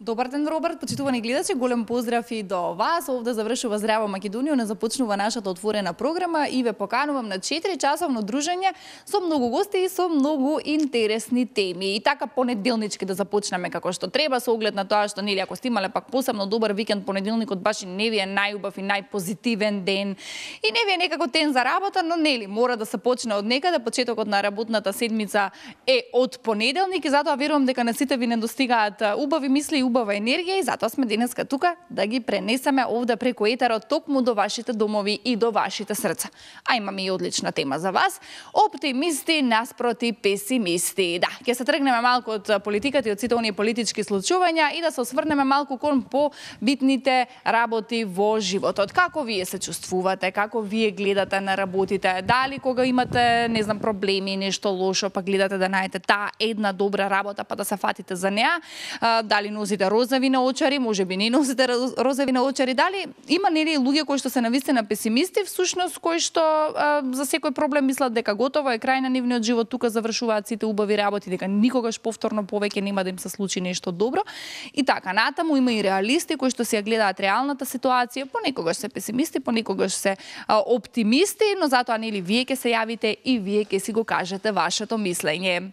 Добар ден, Роберт, почитувани гледачи, голем поздрав и до вас. Овде завршува Здраво Македонија, не започнува нашата отворена програма и ве поканувам на 4-часовно дружење со многу гости и со многу интересни теми. И така понеделнички да започнеме како што треба, со оглед на тоа што нели ако сте имале пак посебно добар викенд, понеделникот баш и не ви е најубав и најпозитивен ден. И не ви е некако ден за работа, но нели мора да се почне од некаде. Почетокот на работната седмица е од понеделник и затоа верувам дека на сите ви недостигаат убави мисли и убава енергија и затоа сме денеска тука да ги пренесеме овде преку етерот токму до вашите домови и до вашите срца. А имаме и одлична тема за вас. Оптимисти наспроти песимисти. Да, ќе се тргнеме малку од политиката и од сите оние политички случувања и да се осврнеме малку кон побитните работи во животот. Како вие се чувствувате, како вие гледате на работите? Дали кога имате, не знам, проблеми, нешто лошо, па гледате да најдете таа една добра работа, па да се фатите за неа? Дали носите розови наочари, можеби не носите розови наочари, дали има нели луѓе кои што се навистина песимисти, всушност кои што за секој проблем мислат дека готово е крај на нивниот живот, тука завршуваат сите убави работи, дека никогаш повторно повеќе нема да им се случи нешто добро. И така натаму има и реалисти кои што си ја гледаат реалната ситуација, понекогаш се песимисти, понекогаш се оптимисти, но затоа нели вие ќе се јавите и вие ќе си го кажете вашето мислење.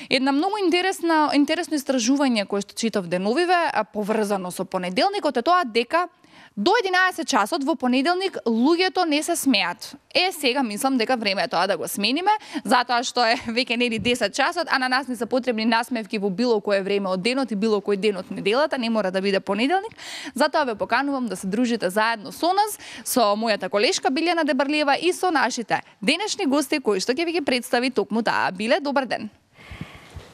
Една многу интересно истражување кое што читав деновиве, поврзано со понеделникот, е тоа дека до 11 часот во понеделник луѓето не се смеат. Сега мислам дека време е тоа да го смениме, затоа што е веќе нели 10 часот, а на нас не се потребни насмевки во било кое време од денот и било кој ден од неделата, не мора да биде понеделник. Затоа ве поканувам да се дружите заедно со нас, со мојата колешка Билјана Дебарлиева и со нашите денешни гости кои што ќе ви ги представи токму таа. Биле, добар ден.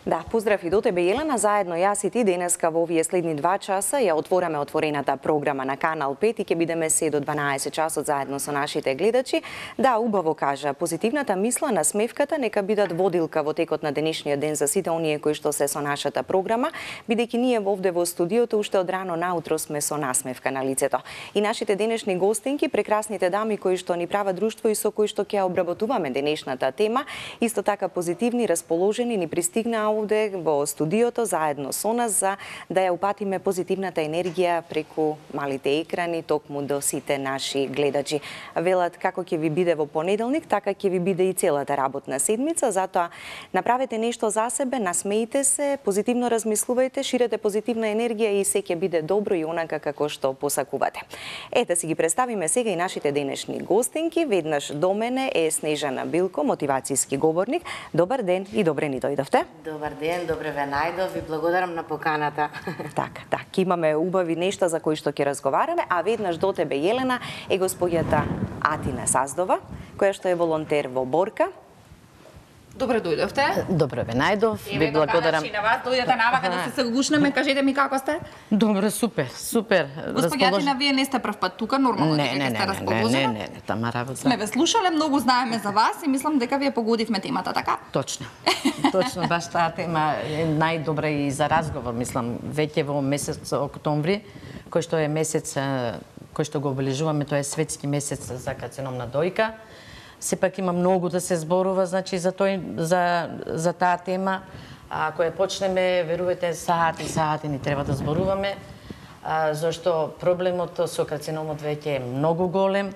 Да, поздрав и до тебе, Елена. Заедно јас и ти денеска во овие следни 2 часа ја отвораме отворената програма на Канал 5 и ќе бидеме се до 12 часот заедно со нашите гледачи. Да, убаво кажа, позитивната мисла, насмевката нека бидат водилка во текот на денешниот ден за сите оние кои што се со нашата програма, бидејќи ние овде во студиото уште од рано наутро сме со насмевка на лицето. И нашите денешни гостинки, прекрасните дами кои што ни прават друштво и со кои што ќе обработуваме денешната тема, исто така позитивни, расположени, ни пристигнаа овде во студиото заедно со нас за да ја упатиме позитивната енергија преку малите екрани токму до сите наши гледачи. Велат како ќе ви биде во понеделник, така ќе ви биде и целата работна седмица, затоа направете нешто за себе, насмеите се, позитивно размислувајте, ширете позитивна енергија и се ќе биде добро и онака како што посакувате. Ете си ги представиме сега и нашите денешни гостинки. Веднаш до мене е Снежана Билко, мотивацијски говорник. Добар ден и добре ни дојдовте. Добар ден, добре ве најдов и благодарам на поканата. Така, имаме убави нешта за кои што ќе разговараме, а веднаш до тебе, Елена, е госпоѓата Атина Саздова, која што е волонтер во Борка. Добре дојдовте. Добре ве најдов, ви благодарам. И на вас дојдете навака да се гушнеме, кажете ми како сте? Добре, супер. Господја Атина, вие не сте прв пат тука, нормално дека ќе сте расположена. Не, тама работа. Сме ве слушале, многу знаеме за вас и мислам дека вие погодивме темата, така? Точно, баш таа тема е најдобра и за разговор, мислам, веќе во месец октомври, кој што е месец кој што го обележуваме, тоа е светски месец за карцином на дојка. Сепак има многу да се зборува, значи за таа тема. Ако ја почнеме, верувате, сати ни треба да зборуваме, зашто проблемот со карциномот веќе е многу голем,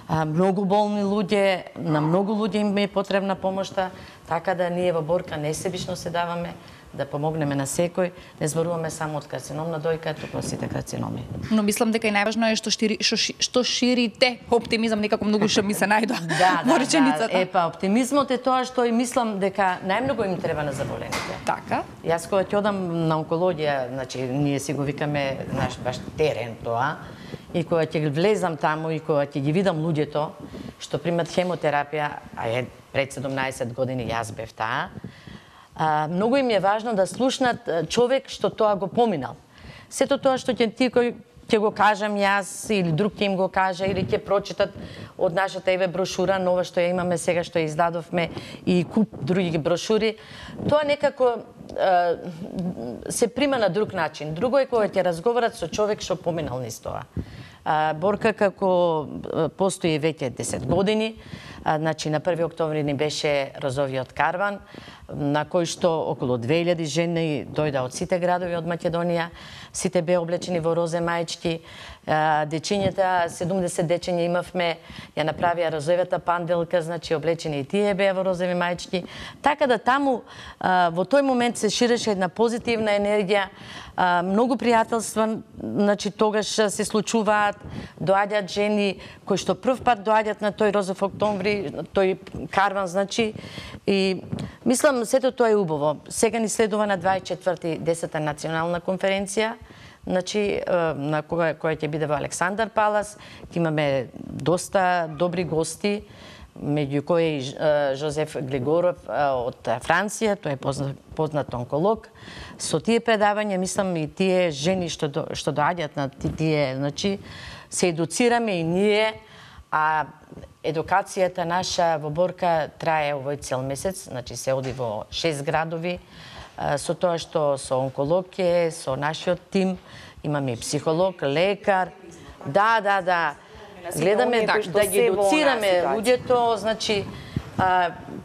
многу болни луѓе, на многу луѓе им е потребна помошта, така да ние во Борка несебично се даваме да помогнеме на секој, не зборуваме само од карцином на дојка, туку сите карциноми. Но мислам дека и најважно е што ширите оптимизам, некако многу што ми се најдоа во реченицата. Оптимизмот е тоа што и мислам дека најмногу им треба на заболените. Така. Јас кога ќе одам на онкологија, значи ние си го викаме наш баш терен тоа, и кога ќе влезам таму и кога ќе ги видам луѓето што примат хемотерапија, пред 17 години јас бев таа, многу им е важно да слушнат човек што тоа го поминал. Сето тоа што ќе го кажам јас или друг ќе им го каже или ќе прочитат од нашата брошура нова што ја имаме сега, што ја издадовме и куп други брошури, тоа некако се прима на друг начин. Друго е кога ќе разговарат со човек што поминал низ тоа. Борка како постои веќе 10 години, Значи, на 1. октомври ни беше розовиот карван, на кој што околу 2000 жени дојда од сите градови од Македонија. Сите беа облечени во розе мајчки. Дечињата, 70 дечиња имавме, ја направија розовата панделка, значи облечени и тие беа во розови мајчки. Така да таму во тој момент се ширеше една позитивна енергија, многу пријателства, значи тогаш се случуваат, доаѓаат жени кои што прв пат доаѓаат на тој розов октомври, тој карван, значи, и мислам сето тоа е убаво. Сега ни следува на 24-ти 10-та национална конференција, значи на која ќе биде во Александар Палас. Имаме доста добри гости, меѓу кои Жозеф Глигоров од Франција, тој е познат онколог. Со тие предавања, мислам, и тие жени што доаѓаат на тие, значи, се едуцираме и ние, а едукацијата наша во Борка трае овој цел месец, значи се оди во 6 градови, со тоа што со онколог е, со нашиот тим, имаме и психолог, лекар. Да. Гледаме да ги едуцираме луѓето, значи,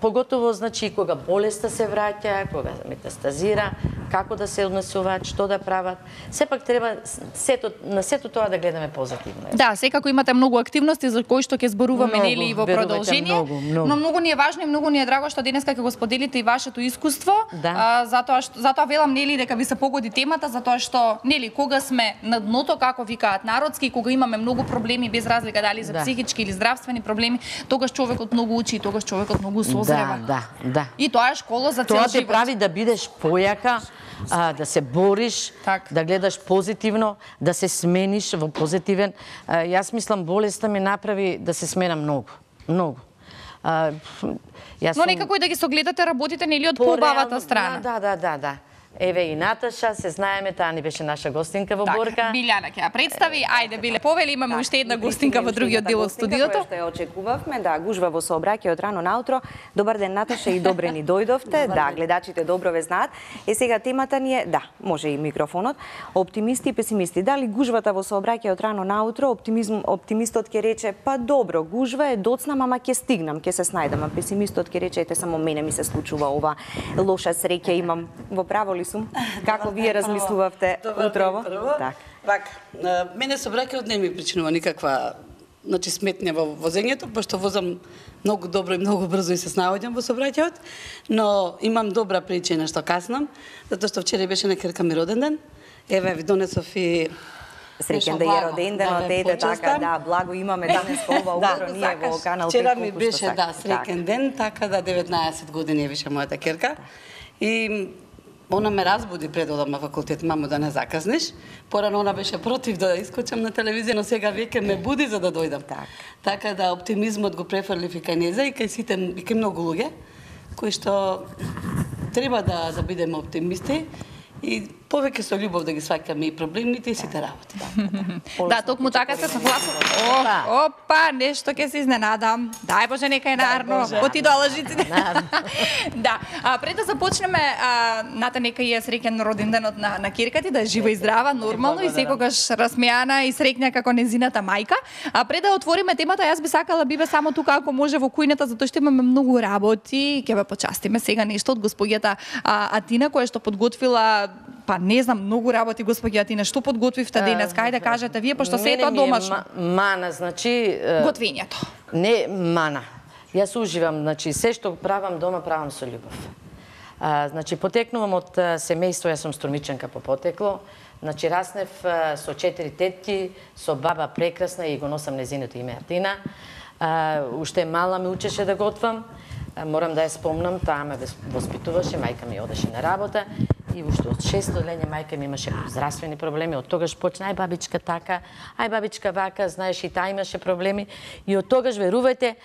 поготово, значи, кога болеста се враќа, кога метастазира, како да се однесуваат, што да прават. Сепак треба на сето тоа да гледаме позитивно. Да, секако имате многу активности за кои што ќе зборуваме нели и во продолжение. Но многу ни е важно и многу ни е драго што денеска ќе го споделите и вашето искуство. Да. Затоа велам нели дека ви се погоди темата, затоа што нели кога сме на дното, како викаат народски, кога имаме многу проблеми без разлика дали за психички или здравствени проблеми, тогаш човекот многу учи и тогаш човекот многу созрева. Да. И тоа е школа за цел живот. Тоа те прави да бидеш појака, да се бориш, да гледаш позитивно, да се смениш во позитивен. Јас мислам болеста ме направи да се смена многу. Но некако и да ги согледате работите нели од побавата страна. Да. Еве и Наташа, се знаеме, таа ни беше наша гостинка во Борка. Билјана ќе ја представи. Ајде, Биле, повели, имаме уште една гостинка во другиот дел од студиото. Што ја очекувавме, да, гужва во сообраќајот рано наутро. Добар ден, Наташа, и добре ни дојдовте. Да, гледачите добро ве знаат. Сега темата ни е, да, може и микрофонот, оптимисти и песимисти. Дали гужвата во сообраќајот рано наутро, оптимистот ќе рече, па добро, гужва е доцнам, ама ќе стигнам, ќе се снајдам, а песимистот ќе рече, ете само мене ми се случува ова, лоша среќа имам. Во право ли сум? Како вие размислувавте утрово? Так. Мене сообраќајот не ми причинува никаква сметња во возењето, пошто возам многу добро и многу брзо и се снаоѓам во сообраќајот, но имам добра причина што каснам, затоа што вчера беше на ќерка ми роден ден. Еве ви донесов и среќен да е роден денот, ете така, да, благо имаме денес ова утро ние во канал 5. Вчера ми беше среќен ден, така да 19 години е више мојата ќерка. И она ме разбуди пред одам на факултет, мамо да не закаснеш. Порано она беше против да искочам на телевизија, но сега веќе ме буди за да дојдам. Така да оптимизмот го префрлив и кај неза и кај сите, и кај многу луѓе кои што треба да бидеме оптимисти и повеќе со љубов да ги сваќаме и проблемите и сите работи. Да, токму така се согласувам. Опа, нешто ќе се изненадам. Дај Боже, нека е нарно. Отидоа лажиците. Да, пред да започнеме, Ната, нека е среќен роден денот на ќерка ти, да е жива и здрава, нормално и секогаш расмејана и среќна како незината мајка. Пред да отвориме темата, јас би сакала биве само тука ако може во кујната, затоа што имаме многу работи. Ќе ве почастиме сега нешто од господјата Атина, која што подготвила, па не знам, многу работи, господја Атина. Што подготвивте денес? Кај да кажете вие, пошто се е тоа домашно? Мана, значи... Готвењето. Не мана. Јас уживам, значи, се што правам дома, правам со љубов. Значи, потекнувам од семејство, јас сум струмичанка по потекло. Значи, раснев со 4 тетки, со баба прекрасна и го носам незиното име Атина. Уште мала ме учеше да готвам. Морам да ја спомнам, таа ме воспитуваше, мајка ми одеше на работа и уште од 6 лење мајка ми имаше здравствени проблеми, од тогаш почна ај бабичка така, ај бабичка вака, знаеш и таа имаше проблеми и од тогаш верувајте,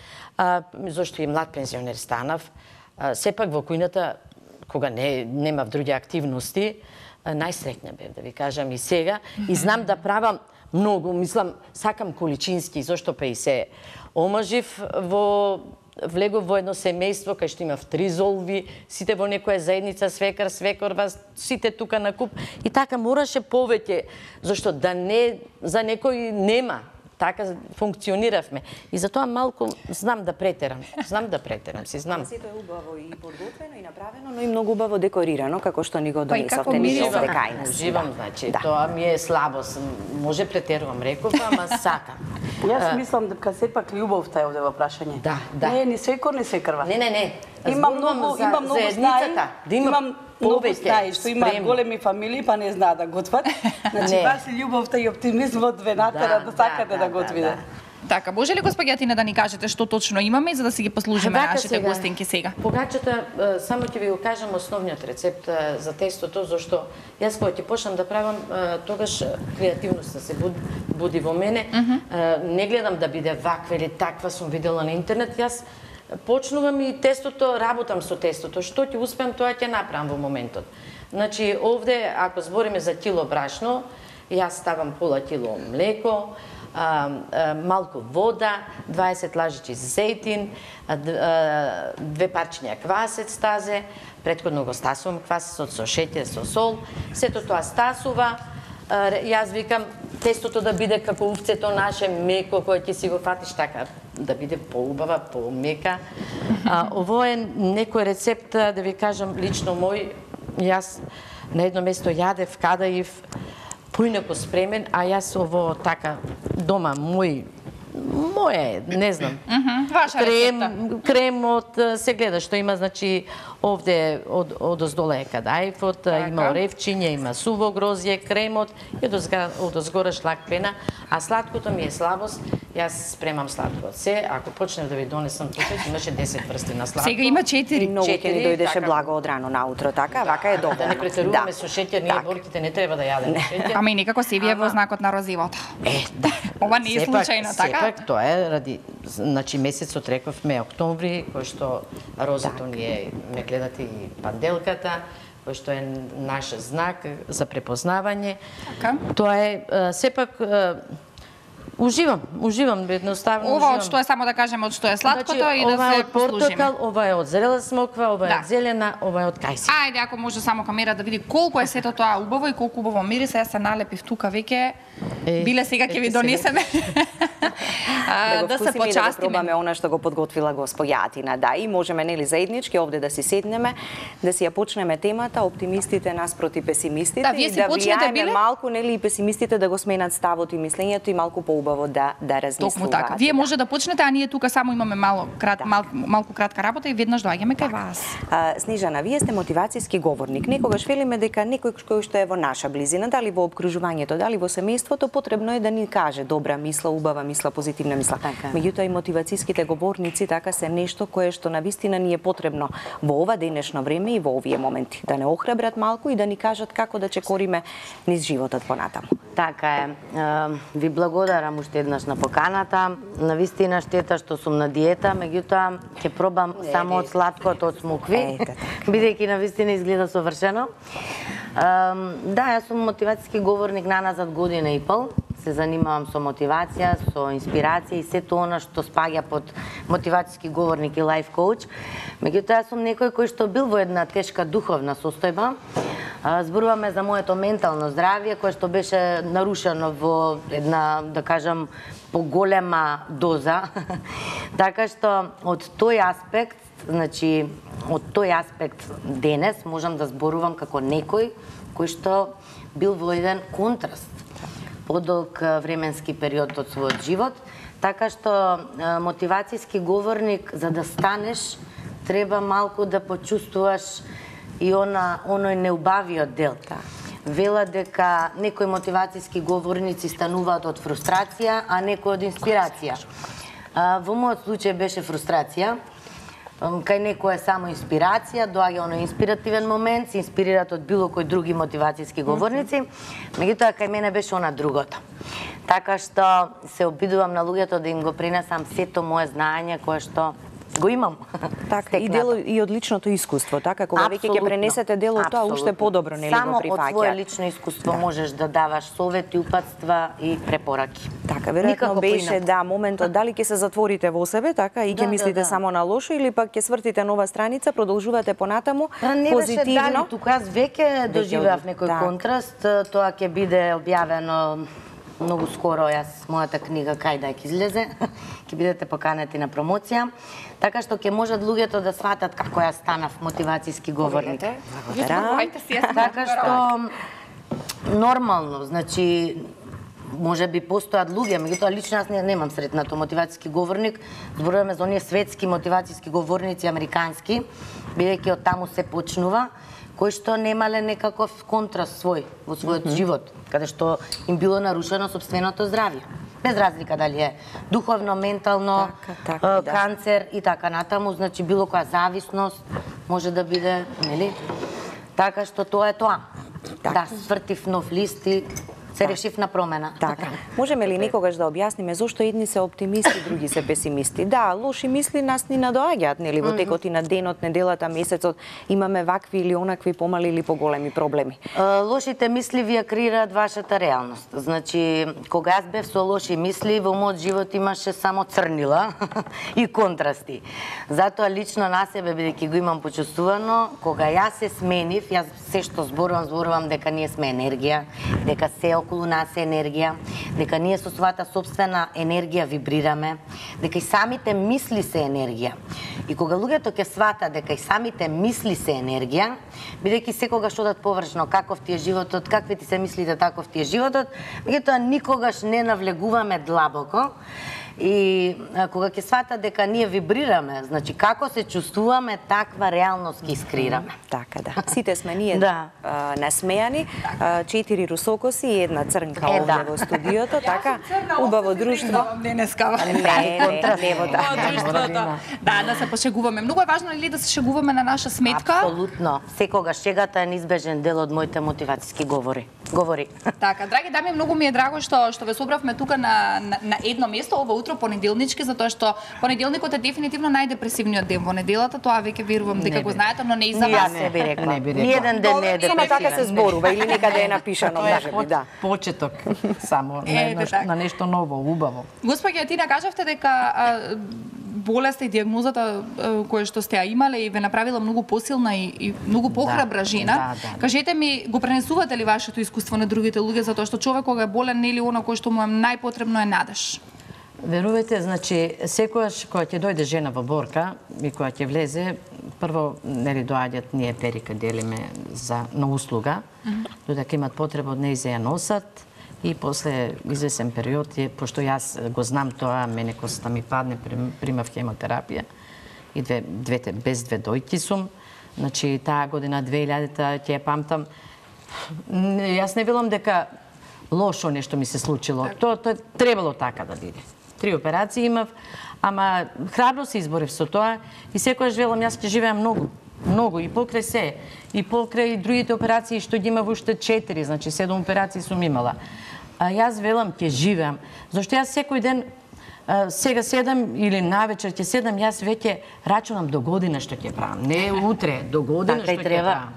зашто и млад пензионер станав, сепак во кујната кога немав други активности, најсреќна бев, да ви кажам и сега, и знам да правам многу, мислам, сакам количински, зашто па и се омажив влегов во едно семејство кај што имав 3 золви, сите во некоја заедница, свекар, свекорва, сите тука на куп. И така мораше повеќе, зашто да не, за некој нема. така функциониравме. И затоа малку знам да претерам, си знам. Сето е убаво и подготвено и направено, но и многу убаво декорирано, како што ни го Па и како донесовте ни мирисва. овде кај нас. Уживам, значи, тоа ми е слабост. Може претерувам, реков, ама сакам. Јас мислам дека сепак љубовта е овде во прашање. Да, да. Не е ни свекор, ни свекрва. Не. Имам Зборувам многу за знаи, заедницата, да има имам многу повеќе знаи што имаат спремни. големи фамилии, па не знаат да готват. Значи, Не. вас љубовта и оптимизмот ве натера да сакате да готвите. Така, може ли госпоѓатина да ни кажете што точно имаме и за да си ги послужиме нашите гостинки сега? Погачата, само ќе ви го кажам основниот рецепт за тестото, зашто јас кога ќе почнам да правам, тогаш креативноста се буди во мене. Не гледам да биде ваква или таква, сум видела на интернет. Јас почнувам и тестото, работам со тестото. Што ќе успеам, тоа ќе направам во моментот. Значи, овде, ако збориме за кило брашно, јас ставам пола кило млеко, малку вода, 20 лажици зејтин, 2 парчиња квасец тазе, претходно го стасувам квасецот со шеќер, со сол, сето тоа стасува. Јас викам тестото да биде како увцето наше, меко, кое ќе си го фатиш така, да биде поубава, помека. Ово е некој рецепт, да ви кажам, лично мој, јас на едно место јадев, кадаив, поинако спремен, а јас ово така дома моје, не знам. Ваша рецепта. Кремот се гледа што има, значи овде од оздола е кадаифот, има оревчиња, има суво грозје, кремот и од озгора шлак пена, а сладкото ми е слабост. Јас спремам сладко. Се, ако почнем да ви донесам тука, имаше 10 врсти на сладко. Сега има 4. И многу ќе ни дојдеше така. благо од рано наутро, така? Вака е добро. Да не претеруваме со шеќер, ние борките не треба да јадеме шеќер. Ама и некако се вие во знакот на розивото. Да. Ова не е случајно, така? Сепак, тоа е ради, значи месецот рековме октомври, кој што розето ни е, ме гледате и панделката, кој што е наш знак за препознавање. Така. Тоа е сепак Уживам едноставно. Ова од што е, само да кажеме, од што е сладкото и да ова е се од портокал, послужиме. ова е од зрела смоква, ова е од зелена, ова е од кајси. Ајде, ако може само камера да види колку е сето тоа убаво и колку убаво мириса, јас се налепив тука веќе. Биле сега ќе ви донесеме. Да се почастиме и да го почастиме. пробаме она што го подготвила госпоѓатина. Да, и можеме нели заеднички овде да си седнеме, да си ја почнеме темата оптимистите наспроти песимистите Да, вие и си да почнете, влијаеме биле? малку нели и песимистите да го сменат ставот и мислењето и малку поубаво да размислуваат. Токму така. Вие може да почнете, а ние тука само имаме малку кратка работа и веднаш доаѓаме кај вас. Снежана, вие сте мотивацијски говорник. Некогаш велиме дека некој кој што е во наша близина, дали во опкружувањето, дали во семејството, потребно е да ни каже добра мисла, убава мисла, позитивна мисла. Меѓутоа и мотивацијските говорници така се нешто кое што навистина ни е потребно во ова денешно време и во овие моменти, да не охрабрат малку и да ни кажат како да чекориме низ животот понатаму. Така е. Ви благодарам уште еднаш на поканата. Навистина штета што сум на диета, меѓутоа ќе пробам само од сладкото од смокви, бидејќи навистина изгледа совршено. Да, јас сум мотивацијски говорник наназад година и пол. Се занимавам со мотивација, со инспирација и сето она што спаѓа под мотивацијски говорник и лайф коуч. Меѓутоа, јас сум некој кој што бил во една тешка духовна состојба. Зборуваме за моето ментално здравје, кое што беше нарушено во една, да кажам, поголема доза. Така што од тој аспект, значи, од тој аспект денес можам да зборувам како некој кој што бил во еден контраст подолг временски период од својот живот, така што мотивацијски говорник за да станеш треба малку да почувствуваш и оној неубавиот дел. Вела дека некои мотивацијски говорници стануваат од фрустрација, а некои од инспирација. Во мојот случај беше фрустрација. Кај некој е само инспирација, доаѓа оној инспиративен момент, се инспирират од било кој други мотивацијски говорници, меѓутоа кај мене беше она другото. Така што се обидувам на луѓето да им го пренесам сето мое знаење кое што го имам. Така, и дел и од личното искуство, така, кога веќе ќе пренесете дел од тоа, уште подобро нели го прифаќа. Само од твое лично искуство можеш да даваш совети, упатства и препораки. Така, веројатно беше моментот дали ќе се затворите во себе, така, и ќе мислите само на лошо или пак ќе свртите нова страница, продолжувате понатаму позитивно. Не беше дали, тука јас веќе доживеав некој контраст, тоа ќе биде објавено многу скоро мојата книга кај да ќе излезе, ќе бидете поканети на промоција, така што ќе можат луѓето да сватат како јас станав мотивацијски говорник. Така што нормално, значи може би постојат луѓе, меѓутоа лично јас немам сретнато мотивацијски говорник, зборуваме за оние светски мотивацијски говорници американски, бидејќи од таму се почнува, кои што немале некаков контраст свој во својот живот, каде што им било нарушено сопственото здравје. Без разлика дали е духовно, ментално, канцер и така натаму, значи било која зависност може да биде, нели? Така што тоа е тоа. Да, свртив нов лист и се решив на промена. Така. Можеме ли некогаш да објасниме зошто едни се оптимисти, други се песимисти? Да, лоши мисли нас ни надоаѓаат, нели, во текот и на денот, неделата, месецот, имаме вакви или онакви помали или поголеми проблеми. Лошите мисли вие креираат вашата реалност. Значи, кога јас бев со лоши мисли, во мојот живот имаше само црнила и контрасти. Затоа лично на себе, бидејќи го имам почувствувано, кога јас се сменив, јас се што зборувам дека ние сме енергија, дека се околу нас е енергија, дека ние со својата собствена енергија вибрираме, дека и самите мисли се енергија. И кога луѓето ќе сватат дека и самите мисли се енергија, бидејќи секогаш одат површно каков ти е животот, какви ти се мислите, таков ти е животот, меѓутоа никогаш не навлегуваме длабоко. И кога ќе сватат дека ние вибрираме, значи како се чувствуваме, таква реалност ќе искреираме. Така да. Сите сме ние насмејани, 4 русокоси и една црнка овде во студиото, така убаво друштво. Денеска. Не во друштвото. Да се пошегуваме. Многу е важно ли да се шегуваме на наша сметка? Апсолутно. Секогаш шегата е неизбежен дел од моите мотивацијски говори. Така, драги дами, многу ми е драго што ве собравме тука на едно место ова утро понеделнички, затоа што понеделникот е дефинитивно најдепресивниот ден во неделата, тоа веќе верувам дека го знаете, но не и за вас. Не би рекла. Ниеден ден не е депресивен. Само така се зборува или некаде е напишано, можеби, да. Почеток само на нешто ново, убаво. Господја, ти кажавте дека болеста и диагнозата која што сте ја имале и ве направила многу посилна и многу похрабра жена. Кажете ми, го пренесувате ли вашето искуство на другите луѓе, затоа што човек кога е болен нели она кој што му е најпотребно е надеж? Верувате, значи секогаш кога ќе дојде жена во борка и кога ќе влезе, прво нели доаѓаат ние перика делиме на услуга, додека имат потреба од неј за ја носат. И после извесен период, пошто јас го знам тоа, мене косата ми падне, примав хемотерапија и без две дојки сум. Значи, таа година 2000-та ќе ја памтам. Јас не велам дека лошо нешто ми се случило. Тоа требало така да биде. 3 операции имав, ама храбро се изборив со тоа и секогаш велам, јас ќе живеам многу и покрај се, и покрај другите операции што ги имав уште 4, значи 7 операции сум имала. А јас велам ќе живеам, зашто јас секој ден сега седам или навечер ќе седам, јас веќе рачунам до година што ќе правам, не утре, до година што ќе правам.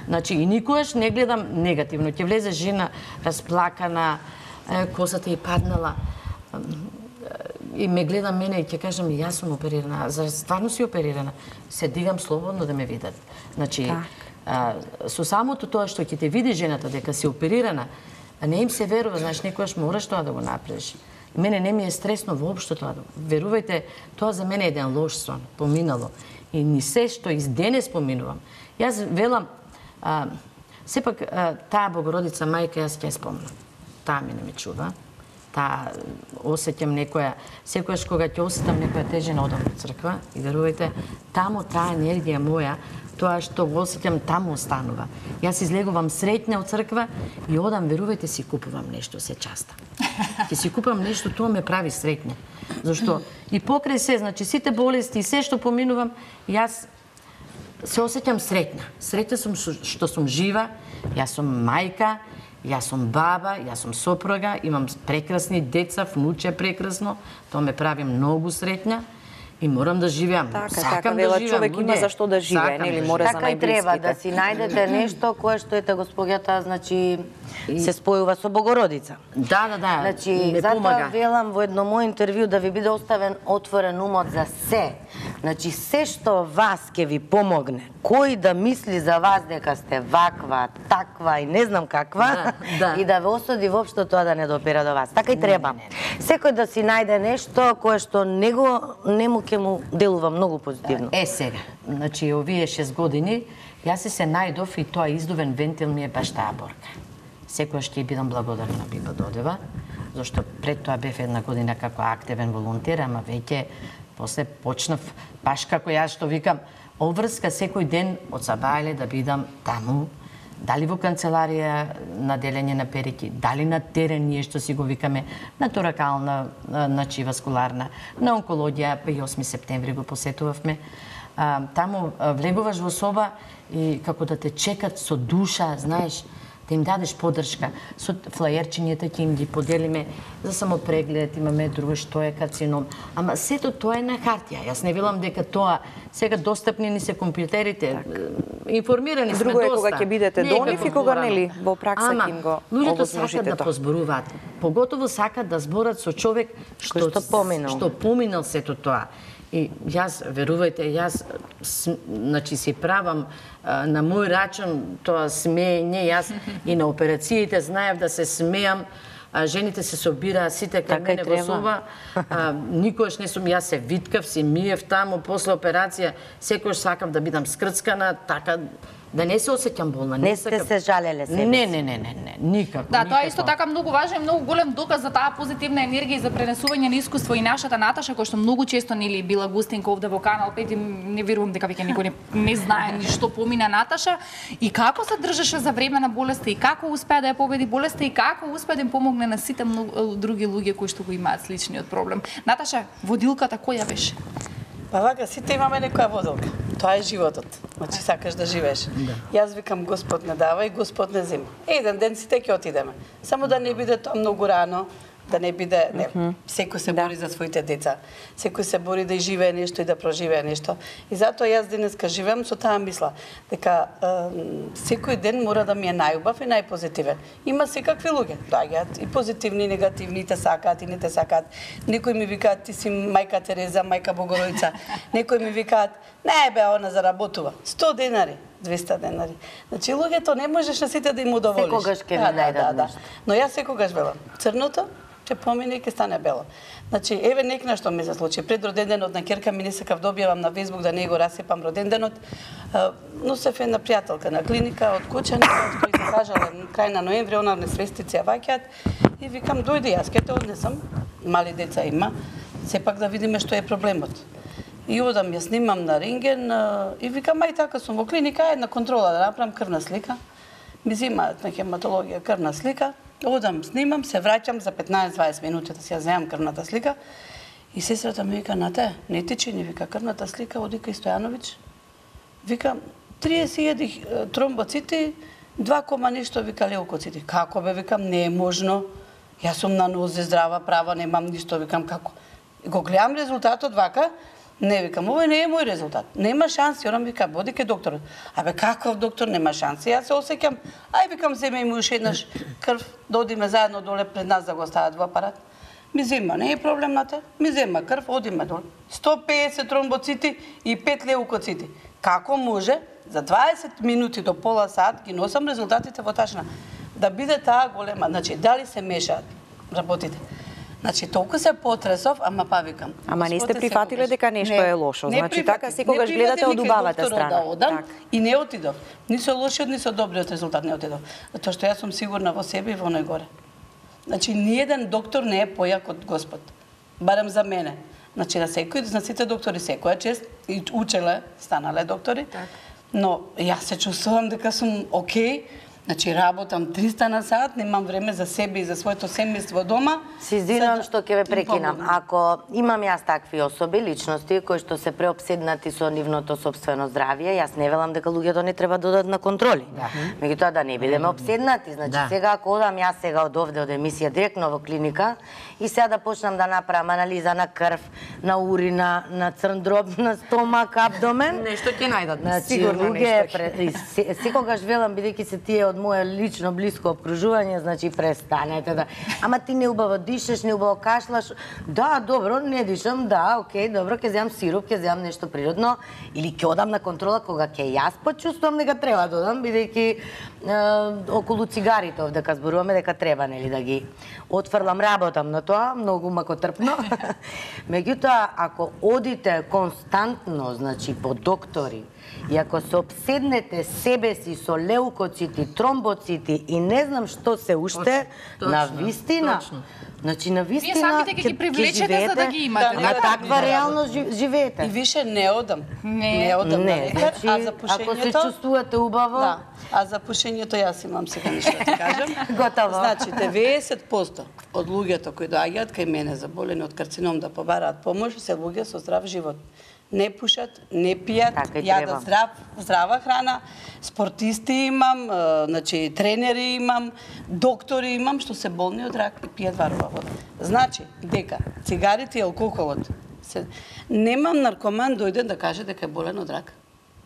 Значи и никогаш не гледам негативно, ќе влезе жена расплакана, косата ѝ паднала и ме гледа мене и ќе кажам јас сум оперирана, за стварно си оперирана, се дигам слободно да ме видат. Значи со самото тоа што ќе те види жената дека си оперирана, не им се верува, знаеш, некојаш мораш тоа да го направиш. Мене не ми е стресно воопшто тоа. Верувајте, тоа за мене е еден лош сон, поминало. И ни се што и денес поминувам. Јас велам, сепак таа Богородица мајка јас ќе спомнам. Таа мене ме чува. Таа осеќам некоја, секојаш кога ќе осетам некоја тежина одам во црква и верувајте, таму таа енергија моја, тоа што го осеќам таму останува. Јас излегувам среќна од црква и одам, верувајте, си купувам нешто се часта. Ќе си купам нешто, тоа ме прави среќна. Зашто и покрај се, значи сите болести и се што поминувам, јас се осеќам среќна. Среќна сум што сум жива, јас сум мајка, јас сум баба, јас сум сопруга, имам прекрасни деца, внуче прекрасно, тоа ме прави многу среќна. И морам да живеам. Така, вела човек има за што да живее, нели, мора за најблиските. Така и треба да си најдете нешто кое што ете госпоѓата, значи се спојува со Богородица. Да, значи затоа велам во едно мој интервју да ви биде оставен отворен умот за се. Значи се што вас ќе ви помогне кој да мисли за вас дека сте ваква, таква и не знам каква, и да ве осуди воопшто тоа да не допира до вас. Така и треба. Секој да си најде нешто кое што нему ќе му делува многу позитивно. Сега, значи овие 6 години јас се најдов и тоа издувен вентил ми е баш таа борка. Секојаш ќе бидам благодарна на Биба Додева, зашто пред тоа бев една година како активен волонтер, ама веќе после почнав баш како јас што викам, обврска секој ден од сабајле да бидам таму, дали во канцеларија на делење на перики, дали на терен ние што си го викаме, на торакална, значи васкуларна, на онкологија, па и 8 септември го посетувавме. Таму влегуваш во соба и како да те чекат со душа, знаеш, да им дадеш поддршка. Со флаерчињата ќе им ги поделиме за самопреглед, имаме друго што е карцином. Ама сето тоа е на хартија. Јас не велам дека тоа сега достапни ни се компјутерите, информирани сме доста. Друго е кога ќе бидете до нив и кога нели во пракса ќе им го овозможите тоа. Луѓето сакат да позборуваат. Поготово сакат да зборат со човек што поминал сето тоа. И јас, верувајте, значи си правам на мој рачун тоа смеење, јас и на операциите знаев да се смеам, жените се собираа сите кај мене во соба, никогаш не сум, јас се виткав, си миев таму, после операција, секојаш сакав да бидам скрцкана, така, да не се осеќам болна. Не сте се жалеле себе? Не, никако. Да, тоа е исто така многу важен и многу голем доказ за таа позитивна енергија и за пренесување на искуство и нашата Наташа, која што многу често нели била гостинка овде во Канал 5 и не верувам дека веќе никој не знае ни што помина Наташа и како се држеше за време на болеста и како успеа да ја победи болеста и како успеа да им помогне на сите други луѓе кои што го имаат сличниот проблем. Наташа, водилката која беше? Па вака, сите имаме некоја водилка. Тоа е животот. Значи сакаш да живееш. Јас викам Господ не дава и Господ не зема. Еден ден сите ќе отидеме. Само да не биде тоа многу рано, да не биде, секој се бори за своите деца. Секој се бори да живее нешто и да проживее нешто. И затоа јас денеска живеам со таа мисла дека секој ден мора да ми е најубав и најпозитивен. Има секакви луѓе, доаѓаат и позитивни, и негативни, и те сакаат и не те сакаат. Некои ми викаат ти си мајка Тереза, мајка Богородица. Некои ми викаат не бе, она заработува 100 денари. 200 денари. Значи луѓето не можеш на сите да им удоволиш. Секогаш ќе ви најдат нешто. Но јас секогаш велам, црното ќе помине и ќе стане бело. Значи, еве некна што ми се случи. Пред роденденот на ќерка ми не сакав да објавам на Фејсбук да не го расипам роденденот. Носев една пријателка на клиника од Кучани, кој се кажала крај на ноември, она несвестици ја ваќаат и викам дојди јас ќе те однесам. Мали деца има, сепак да видиме што е проблемот. И одам, ја снимам на рентген и викам, ај така сум во клиника, една контрола да направам крвна слика. Ми земаат на хематологија крвна слика. Одам, снимам, се враќам за 15-20 минути да си ја земам крвната слика. И сестрата ми вика, Нате, не ти чини, вика, крвната слика, оди кај Стојановиќ. Вика, 30.000 тромбоцити, 2, нешто, вика, леукоцити. Како бе, викам, не е можно. Јас сум на нозе, здрава, права, немам ништо, викам, како. И го гледам резултатот вака, не, викам, овој не е мој резултат. Нема шанси, орам вика, боди ке докторот. Абе, каков доктор, нема шанси. Јас се осеќам, ај викам, земе му уште еднаш крв, да одиме заедно доле пред нас да го стават во апарат. Ми зема, не е проблем на те. Ми зема крв, одиме доле. 150 тромбоцити и 5 леукоцити. Како може за 20 минути до пола сат ги носам резултатите во тачна. Да биде таа голема, значи дали се мешаат работите. Значи, толку се потресов, ама па викам. Ама не сте прифатиле дека нешто е лошо. Значи, така секогаш гледате од убавата страна. Да, и не отидов. Ни со лошиот, ни со добриот резултат не отидов. Затоа што јас сум сигурна во себе и во најгоре. Значи, ниеден доктор не е појак од Господ. Барем за мене. Значи, на секој, на сите доктори секоја чест, и учеле, станале доктори. Но јас се чувствувам дека сум окей. Значи, работам 300 на сат, немам време за себе и за своето семејство дома. Се извинувам што ќе ве прекинам. Ако имам јас такви особи, личности, кои што се преопседнати со нивното сопствено здравје, јас не велам дека луѓето не треба да одат на контроли. Меѓутоа да не бидеме обседнати. Значи, сега ако одам јас сега од овде, од емисија, директно во клиника, и сега да почнам да направам анализа на крв, на урина, на црн дроб, на стомак, абдомен. Нешто ќе најдат, сигурно нешто. Секогаш велам, бидејќи се тие од мое лично блиско обкружување, значи престанете да. Ама ти неубаво дишеш, неубаво кашлаш. Да, добро, не дишам, да, окей, добро, ќе земам сироп, ќе земам нешто природно или ќе одам на контрола кога ќе јас почувствувам дека треба да одам, бидејќи околу цигарите овдека зборуваме дека треба нели да ги отфрлам, работам на тоа, многу макотрпно. Меѓутоа, ако одите константно, значи по доктори, и ако се обседнете себе си со леукоцити, тромбоцити и не знам што се уште, на вистина, значи на вистина вие самите ќе ги привлечете за да ги имате. На таква реалност живеете. И више не одам. Не одам на лекар, значи, а за пушењето... Ако се чувствувате убаво... Да, а за пушењето јас имам сега нешто да ти кажам. Готово. Значи, 90% од луѓето кои доаѓаат кај мене заболени од карцином да побараат помош, се луѓе со здрав живот. Не пушат, не пијат, јадат здрава храна, спортисти имам, значи тренери имам, доктори имам што се болни од рак и пијат варова вода. Значи, дека цигарите и алкохолот немам наркоман дојден да каже дека е болен од рак.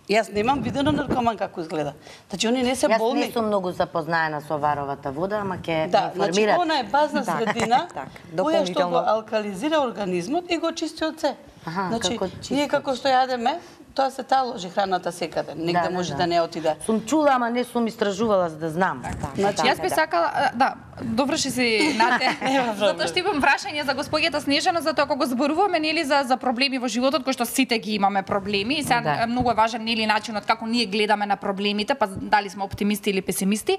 Јас немам видено наркоман како изгледа. Значи, они не се болни. Јас не сум многу запознаена со варовата вода, ама ќе да, информират. Значи, она е базна средина, која што го алкализира организмот и го чисти од се. Значи, ние како што јадеме, тоа се таложи храната секаде, негде може да не отиде. Сум чула, ама не сум истражувала за да знам. Значи, јас би сакала, да, доврши си Нате, затоа што имам прашање за госпоѓата Снежана, затоа кога го зборуваме нели за проблеми во животот, кои што сите ги имаме проблеми, и сега многу е важен нели начинот како ние гледаме на проблемите, па дали сме оптимисти или песимисти.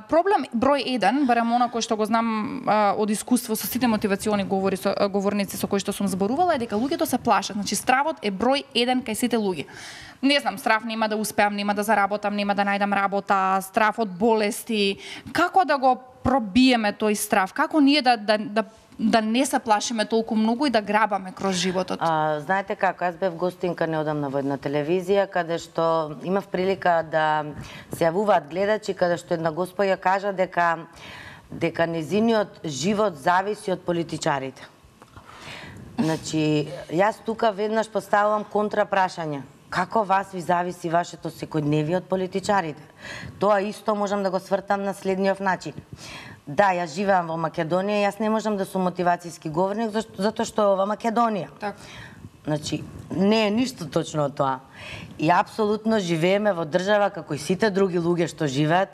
Проблем број 1, барем она кој што го знам од искуство со сите мотивациони говорници со кои што сум зборувала, е дека луѓето се плашат. Значи, стравот е број 1 кај сите луѓе. Не знам, страв нема да успеам, нема да заработам, нема да најдам работа, страв од болести. Како да го пробиеме тој страв? Како ние да не се плашиме толку многу и да грабаме кроз животот? Знаете како, јас бев гостинка неодамна во една телевизија, каде што имав прилика да се јавуваат гледачи, каде што една господја кажа дека незиниот живот зависи од политичарите. Значи, јас тука веднаш поставувам контра прашање. Како вас ви зависи вашето секојдневие од политичарите? Тоа исто можам да го свртам на следниот начин. Да, јас живеам во Македонија, јас не можам да сум мотивацијски говорник затоа што е ова Македонија. Значи, не е ништо точно од тоа. И апсолутно живееме во држава како и сите други луѓе што живеат.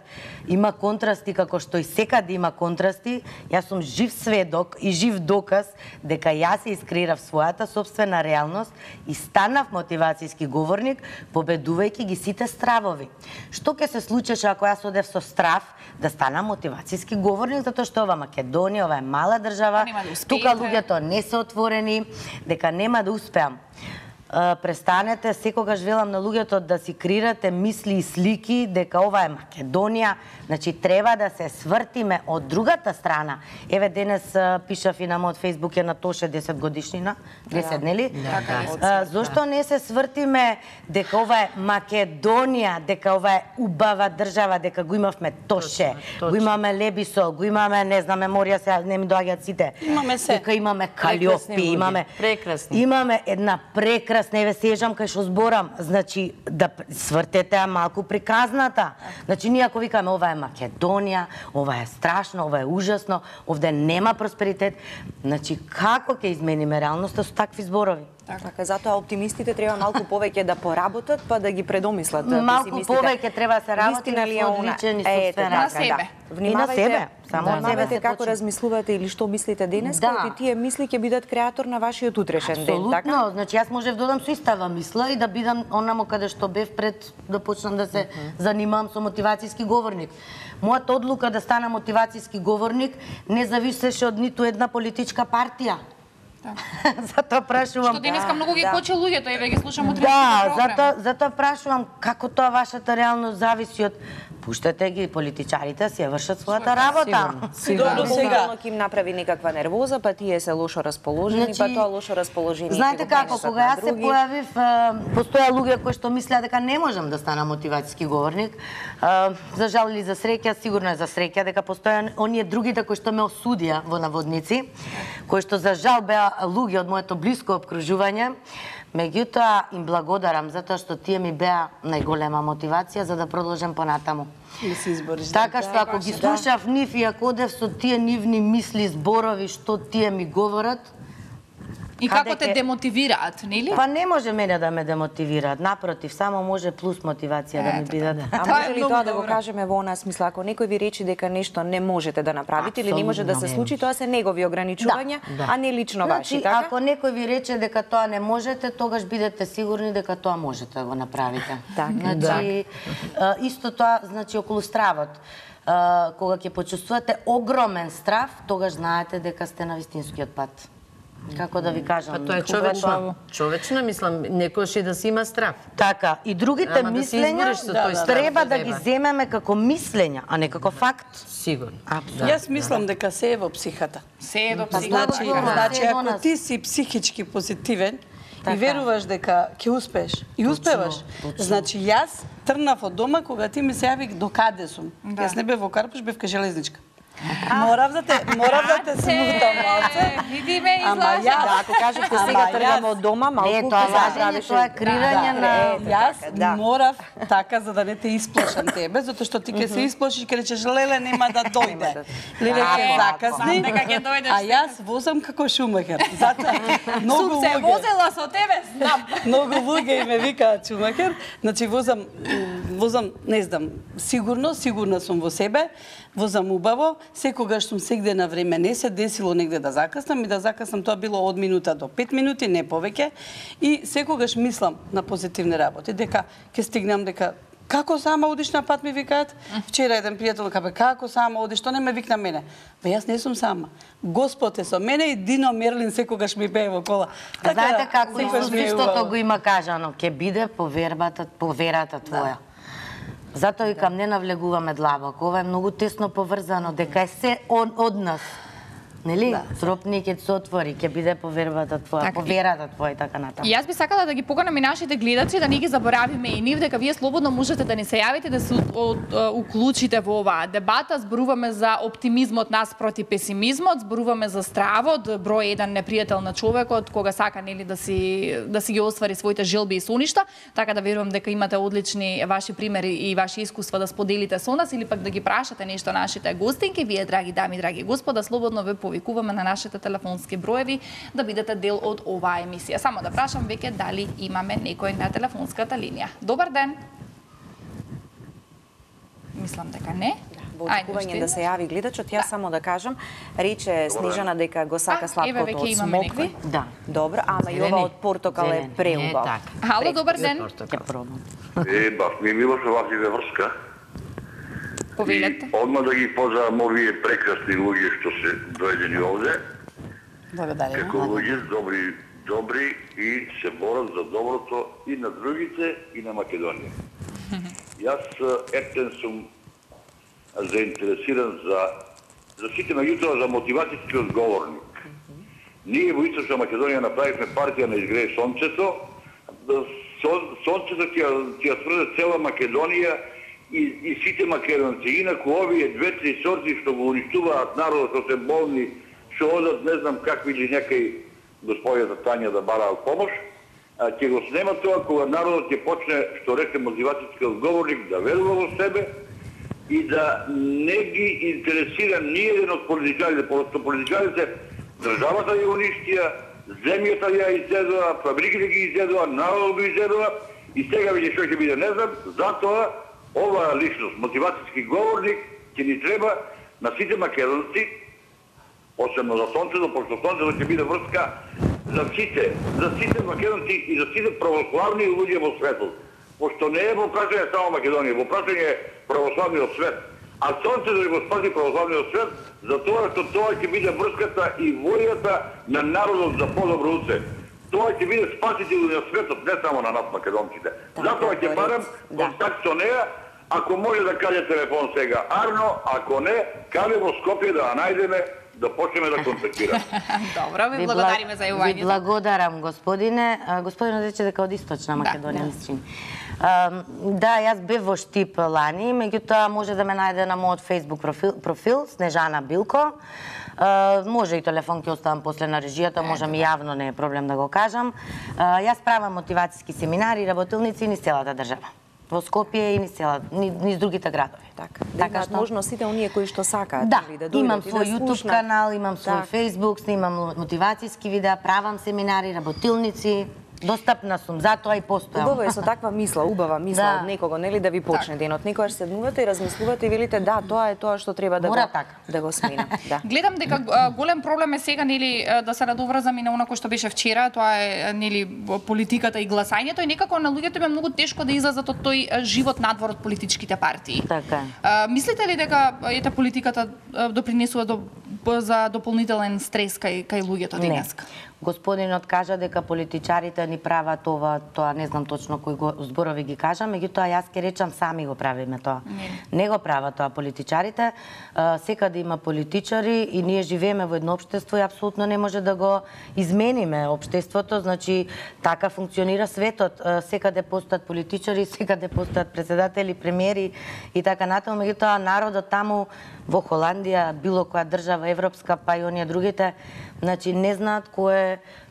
Има контрасти како што и секаде има контрасти. Јас сум жив сведок и жив доказ дека јас се искреирав својата собствена реалност и станав мотивацијски говорник, победувајќи ги сите стравови. Што ќе се случеше ако јас одев со страв да станам мотивацијски говорник, затоа што ова Македонија, ова е мала држава, тука луѓето не се отворени, дека нема да успеам. Престанете, секогаш велам на луѓето да си креирате мисли и слики дека ова е Македонија, значи треба да се свртиме од другата страна. Еве денес пишав и на мојот фејсбук е на Тоше 10 годишнина, 10 нели? Зошто не се свртиме дека ова е Македонија, дека ова е убава држава, дека го имавме Тоше, го имаме Лебисол, го имаме, не знам, меморија се не ми доаѓаат сите. Имаме се. Дека имаме Калиопи, имаме една прекрасна, не ве сежам кај што зборам, значи да свртете малку приказната. Значи ние ако викаме ова е Македонија, ова е страшно, ова е ужасно, овде нема просперитет, значи како ќе измениме реалноста со такви зборови? Така, затоа оптимистите треба малку повеќе да поработат, па да ги предомислат малку повеќе треба да се работи на одличен и собствен на себе. Внимавајте, внимавајте како размислувате или што мислите денес, и тие мисли ќе бидат креатор на вашиот утрешен ден, така? Апсолутно, значи јас можев да одам со истава мисла и да бидам онамо каде што бев пред да почнам да се занимавам со мотивацијски говорник. Мојата одлука да станам мотивацијски говорник не зависеше од ниту една политичка партија. Затоа прашувам. Што денеска многу ги кочи луѓето, еве ги слушам утре. Затоа прашувам како тоа вашата реалност зависи од пуштете ги политичарите си вршат својата работа. Сигурно сега ќе им направи некаква нервоза, па тие се лошо расположени, па тоа лошо расположение. Знаете како, кога јас се појавив, постоја луѓе кои што мислеа дека не можам да станам мотивацијски говорник. За жал или за среќа, сигурно е за среќа дека постоја оние другите кои што ме осудија во наводници, кои што за жал беа луѓе од моето блиско опкружување, Меѓутоа им благодарам затоа што тие ми беа најголема мотивација за да продолжам понатаму. Да се избориш. Така што ако ги слушав нив и ако одев со тие нивни мисли, зборови што тие ми говорат, И како те демотивираат, нели? па не може мене да ме демотивираат, напротив, само може плюс мотивација да ми бидат. А може ли тоа да го кажеме во она смисла, ако некој ви рече дека нешто не можете да направите или не може да се случи, тоа се негови ограничувања, а не лично ваши, така? Ако некој ви рече дека тоа не можете, тогаш бидете сигурни дека тоа можете да го направите. Значи, исто тоа, значи, околу стравот. Кога ќе почувствувате огромен страв, тогаш знаете дека сте на вистинскиот пат. Како да ви кажам? Па тоа е човечно. Човечно, мислам, некојаш и да си има страв. Така, и другите мислења треба да ги земеме како мислења, а не како факт. Сигурно. Јас мислам дека се е во психата. Се е до психата. Значи, ако ти си психички позитивен и веруваш дека ќе успееш и успеваш, значи јас тргнав од дома кога ти ми се јави до каде сум. Јас не бев во Карпуш, бев кај железничка. Морав да те смутам малце. Видиме Ама излажа. Да, ако кажете сега тргаме од дома, малку Не, тоа лажење, тоа е кривање на... Јас морав така за да не те исплашам тебе, затоа што ти ќе се исплашиш и ќе речеш леле нема да дојде. Леле ќе закасни. А јас возам како Шумахер. Затоа многу Сум се возела со тебе, знам. Многу луѓе и ме викаат Шумахер. Значи возам, не знам, сигурна сум во себе, возам убаво, секогаш сум сегде на време, не се десило негде да закаснам и да закаснам, тоа било од минута до 5 минути, не повеќе. И секогаш мислам на позитивни работи, дека ќе стигнам, дека како сама одиш на пат, ми викаат. Вчера еден пријател каже, како сама одиш, што не ме викна мене. Бе, јас не сум сама. Господ е со мене и Дино Мерлин секогаш ми пее во кола. Знаете како секогаш ми е истото убаво. го има кажано, ќе биде по верата твоја. Затоа викам, не навлегуваме длабоко, ова е многу тесно поврзано, дека е се од нас. Нели? Сропник ќе се отвори, ќе биде по верата твоја, по верата твоја и така натаму. И јас би сакала да ги поканам и нашите гледачи да не ги заборавиме и нив, дека вие слободно можете да ни се јавите, да се уклучите во оваа дебата. Зборуваме за оптимизмот нас проти песимизмот, зборуваме за стравот, број еден непријател на човекот, кога сака нели да си ги оствари своите желби и соништа, така да верувам дека имате одлични ваши примери и ваши искуства да споделите со нас или пак да ги прашате нешто нашите гостинки. Вие, драги дами, драги господа, слободно ве повикуваме на нашите телефонски броеви да бидете дел од оваа емисија. Само да прашам веќе дали имаме некој на телефонската линија. Добар ден. Мислам дека не. Во очекување да се јави гледачот, јас само да кажам, рече Снежана дека го сака сладкото од смокви. Да. Добро, ама и ова од портокал е преубав. Хало, добар ден. Ќе пробам. Баш ми е мило со вас и врска. Повелете. Одма да ги поздравам овие прекрасни луѓе што се дојдени овде. Благодарам. Како луѓе добри и се борат за доброто и на другите и на Македонија. Јас ертен сум заинтересиран за сите, меѓутоа за мотивацијскиот говорник. Ние во Источна Македонија направивме партија на Изгрее сонцето. Сонцето ќе ја сврде цела Македонија и сите македонци. Инаку овие две-три сорти што го уништуваат народот, што се болни, што одат не знам какви или некај господјата Тања да бараат помош, ќе го снема тоа кога народот ќе почне, што рече мотивацијскиот говорник, да верува во себе и да не ги интересира ни еден од политичарите, просто политичарите државата ја уништија, земјата ја изедува, фабриките ги изедува, народот го изедува и сега види што ќе биде, не знам, затоа оваа личност, мотивацијски говорник, ќе ни треба на сите македонци, посебно за сонцето, пошто сонцето ќе биде врска за сите македонци и за сите православни луѓе во светот. Пошто не е во прашање само Македонија, во прашање православниот свет. А сонцето ќе го спаси православниот свет, затоа што тоа ќе биде врската и војата на народот за подобро утре. Тоа ќе биде спасител на светот, не само на нас македонците. Затоа ќе барам контакт со неа. Ако може да каде телефон сега Арно, ако не, каде во Скопје да ја најдеме да почнеме да контактираме. Добро, ви благодариме за јавувањето. Ви благодарам, господине. Господинот рече дека од Источна Македонија, мислам. Да, јас бев во Штип лани, меѓутоа може да ме најде на мојот Facebook профил Снежана Билко. Може и телефон ќе оставам после на режијата, можам и јавно, не е проблем да го кажам. Јас правам мотивацијски семинари и работилници низ целата држава. Во Скопје и низ другите градови. Така што можност сите оние кои што сакаат да дојдат имам и свој YouTube канал, имам свој Facebook, снимам мотивацијски видеа, правам семинари, работилници. Достапна сум, затоа и постојам. Убаво е со таква мисла, убава мисла од некого, нели, да ви почне денот. Некогаш седнувате и размислувате и велите да, тоа е тоа што треба да го сменам. Да. Гледам дека голем проблем е сега, нели, да се надоврзам и на онако што беше вчера, тоа е, нели, политиката и гласањето, и некако на луѓето им е многу тешко да излезат од тој живот надвор од политичките партии. Така е. Мислите ли дека политиката допринесува за дополнителен стрес кај луѓето денеска? Господинот кажа дека политичарите ни прават тоа не знам точно кои зборови ги кажа, меѓутоа јас ќе речам сами го правиме тоа. Не го прават тоа политичарите. Секаде има политичари и ние живееме во едно општество и апсолутно не може да го измениме општеството, значи така функционира светот. Секаде постојат политичари, секаде постојат председатели, премиери и така натаму, меѓутоа народот таму во Холандија, било која држава европска, па и оние другите, значи не знаат кој е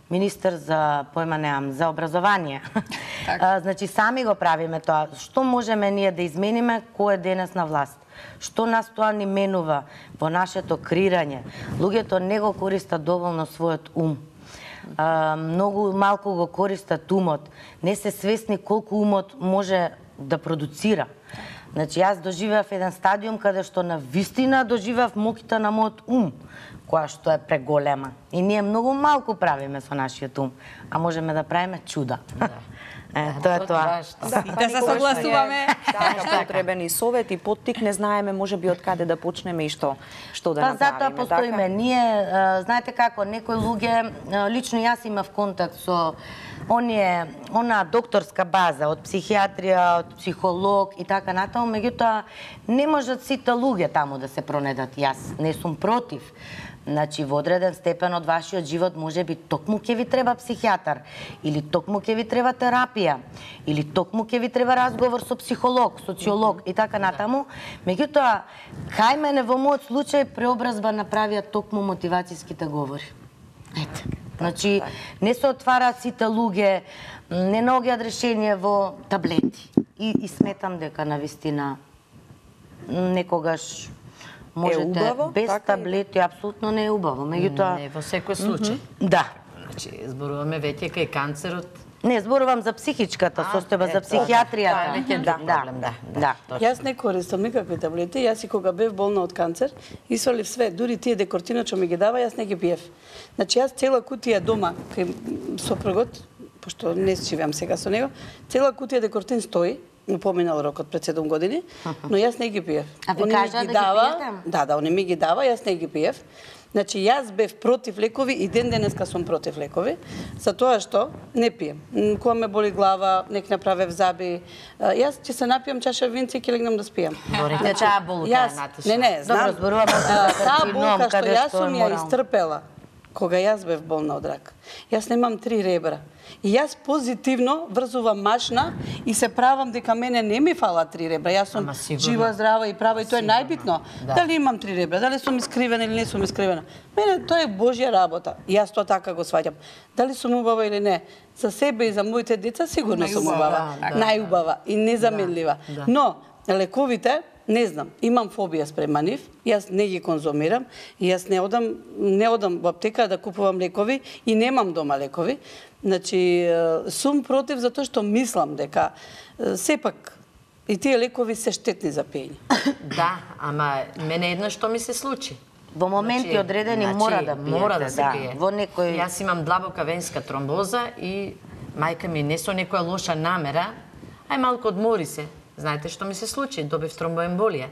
министер за појма неам, за образование. Значи сами го правиме тоа. Што можеме ние да измениме кој е денес на власт? Што нас тоа ни менува во нашето креирање? Луѓето не го користат доволно својот ум. Многу малку го користат умот. Не се свесни колку умот може да продуцира. Значи, јас доживеав еден стадиум каде што на вистина доживеав моките на мојот ум, која што е преголема. И ние многу малку правиме со нашиот ум, а можеме да правиме чуда. Тоа е тоа. Да се согласуваме. Така потребен и совет и поттик, не знаеме можеби од каде да почнеме и што да направиме. Затоа постоиме. Ние, знаете како, некои луѓе, лично јас имав контакт со она докторска база од психијатрија, од психолог и така натаму, меѓутоа не можат сите луѓе таму да се пронедат. Јас не сум против. Значи, во одреден степен од вашиот живот можеби токму ќе ви треба психијатар, или токму ќе ви треба терапија, или токму ќе ви треба разговор со психолог, социолог и така натаму. Меѓутоа, кај мене во мојот случај преобразба направија токму мотивацијските говори. Ете. Значи, не се отвараат сите луѓе, не наоѓаат решение во таблети. И сметам дека навистина некогаш можете без таблети, апсолутно не е убаво. Меѓутоа не во секој случај. Да. Значи, зборуваме веќе кај канцерот. Не, зборувам за психичката состојба, за психијатријата. Да. Јас не користам никакви таблети. Јас и кога бев болна од канцер, исвалив све, дури тие декортина што ми ги дава, јас не ги пиев. Значи јас цела кутија дома кај сопругот, пошто не живеам сега со него, цела кутија декортин стои, поминал рокот пред 7 години, но јас не ги пиев. А ви кажа да ги пиете? Да, они ми ги дава, јас не ги пиев. Значи, јас бев против лекови и ден денеска сум против лекови, за тоа што не пием. Кога ме боли глава, нек направев заби, јас ќе се напијам чаша винце и ќе легнам да спијам. Говорите таа болка, Наташа. Не, знам. Добро, зборуваме за таа болка што каде јас што е сум ја морално. истрпела, кога јас бев болна од рак. Јас немам 3 ребра. И јас позитивно врзувам машна и се правам дека мене не ми фала 3 ребра. Јас сум жива, здрава и права и тоа е најбитно. Дали имам 3 ребра, дали сум искривена или не сум искривена. Мене тоа е Божја работа. Јас тоа така го сваќам. Дали сум убава или не, за себе и за моите деца сигурно сум убава. Најубава и незаменлива. Но лековите не знам, имам фобија спрема нив, јас не ги конзумирам, и јас не одам во аптека да купувам лекови и немам дома лекови. Значи, сум против затоа што мислам дека сепак и тие лекови се штетни за пиење. Да, ама мене едно што ми се случи. Во моменти одредени мора да пиете. Мора да се пие. Во некој... Јас имам длабока венска тромбоза и мајка ми не со некоја лоша намера, ај малку одмори се. Знаете што ми се случи? Добив тромбоемболија.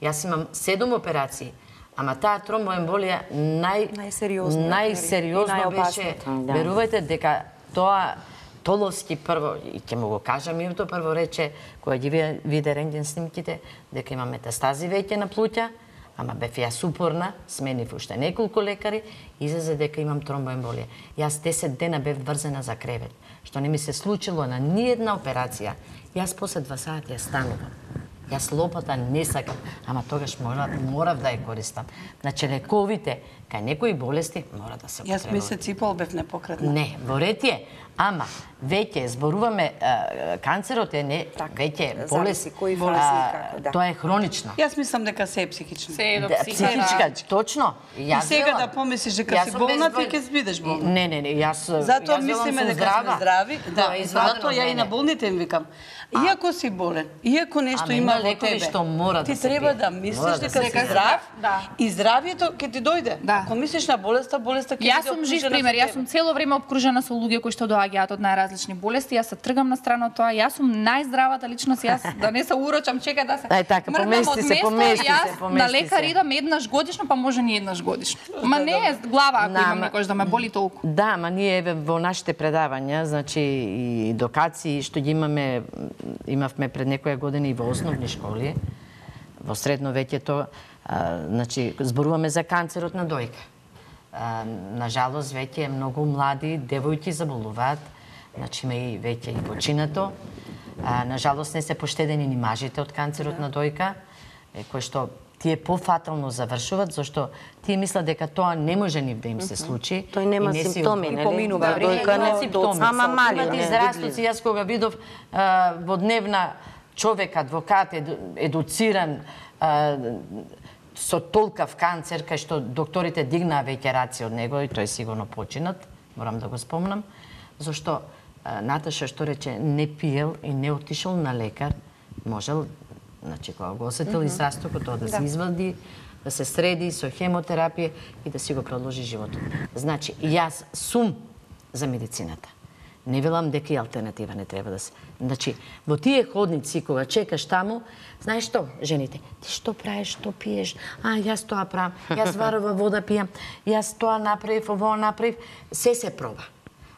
Јас имам 7 операции, ама таа тромбоемболија најсериозно беше. Верувајте дека тоа Толовски прво, и ќе му го кажам името, прво рече, кога ги виде рентген снимките, дека има метастази веќе на плуќа, Ама бев јас упорна, сменив уште неколку лекари, излезе дека имам тромбоемболија. Јас 10 дена бев врзена за кревет, што не ми се случило на ниедна операција. Јас после 2 сати ја станувам. Јас лопата не сакам, ама тогаш морав да ја користам. Значи лековите кај некои болести мора да се употребуваат. Јас месец и пол бев непокретна. Не, во ред е, ама веќе зборуваме канцерот е не веќе болест, кои фази како, да. Тоа е хронична. Јас мислам дека се е психично. Се е до Психичка, точно. И сега да помислиш дека си болна, ти ќе бидеш болна. Не, јас Затоа мислиме дека сме здрави. Да, затоа ја и на болните им викам. Иако си болен, иако нешто има во тебе, ти треба да мислиш дека си здрав и здравието ќе ти дојде. Ако мислиш на болеста, болеста ќе ти дојде. Јас сум жив пример, јас сум цело време обкружена со луѓе кои што доаѓаат од најразлични болести, јас се тргам на страна од тоа, јас сум најздравата личност, јас да не се урочам, чека да се. Ај така, помести се. Јас на лекар идам еднаш годишно, па може ни еднаш годишно. Ма не е глава ако имам некош да ме боли толку. Да, ма ние во нашите предавања, значи и едукации што ги имавме пред некоја година и во основни школи, во средно веќето, значи зборуваме за канцерот на дојка. На жалост веќе многу млади девојки заболуваат, значи има и веќе и починато. На жалост не се поштедени ни мажите од канцерот на дојка, кој што тие пофатално завршуваат, зашто тие мислат дека тоа не може нив да им се случи. Тој нема симптоми, нели? Поминува дојка не симптоми. Ама мали израстоци, јас кога видов во дневна човек, адвокат, едуциран, со толкав канцер, кај што докторите дигнаа веќе раци од него и тој сигурно починат, морам да го спомнам, зашто Наташа што рече не пиел и не отишол на лекар, можел, значи кога го осетил израстокот, тоа да се извади, да се среди со хемотерапија и да си го продолжи животот. Значи, јас сум за медицината. Не велам дека и алтернатива не треба да се. Значи, во тие ходници, кога чекаш таму, знаеш што, жените, ти што правиш, што пиеш? Јас тоа правам, јас варова вода пијам, јас тоа направив, ово направив, се проба.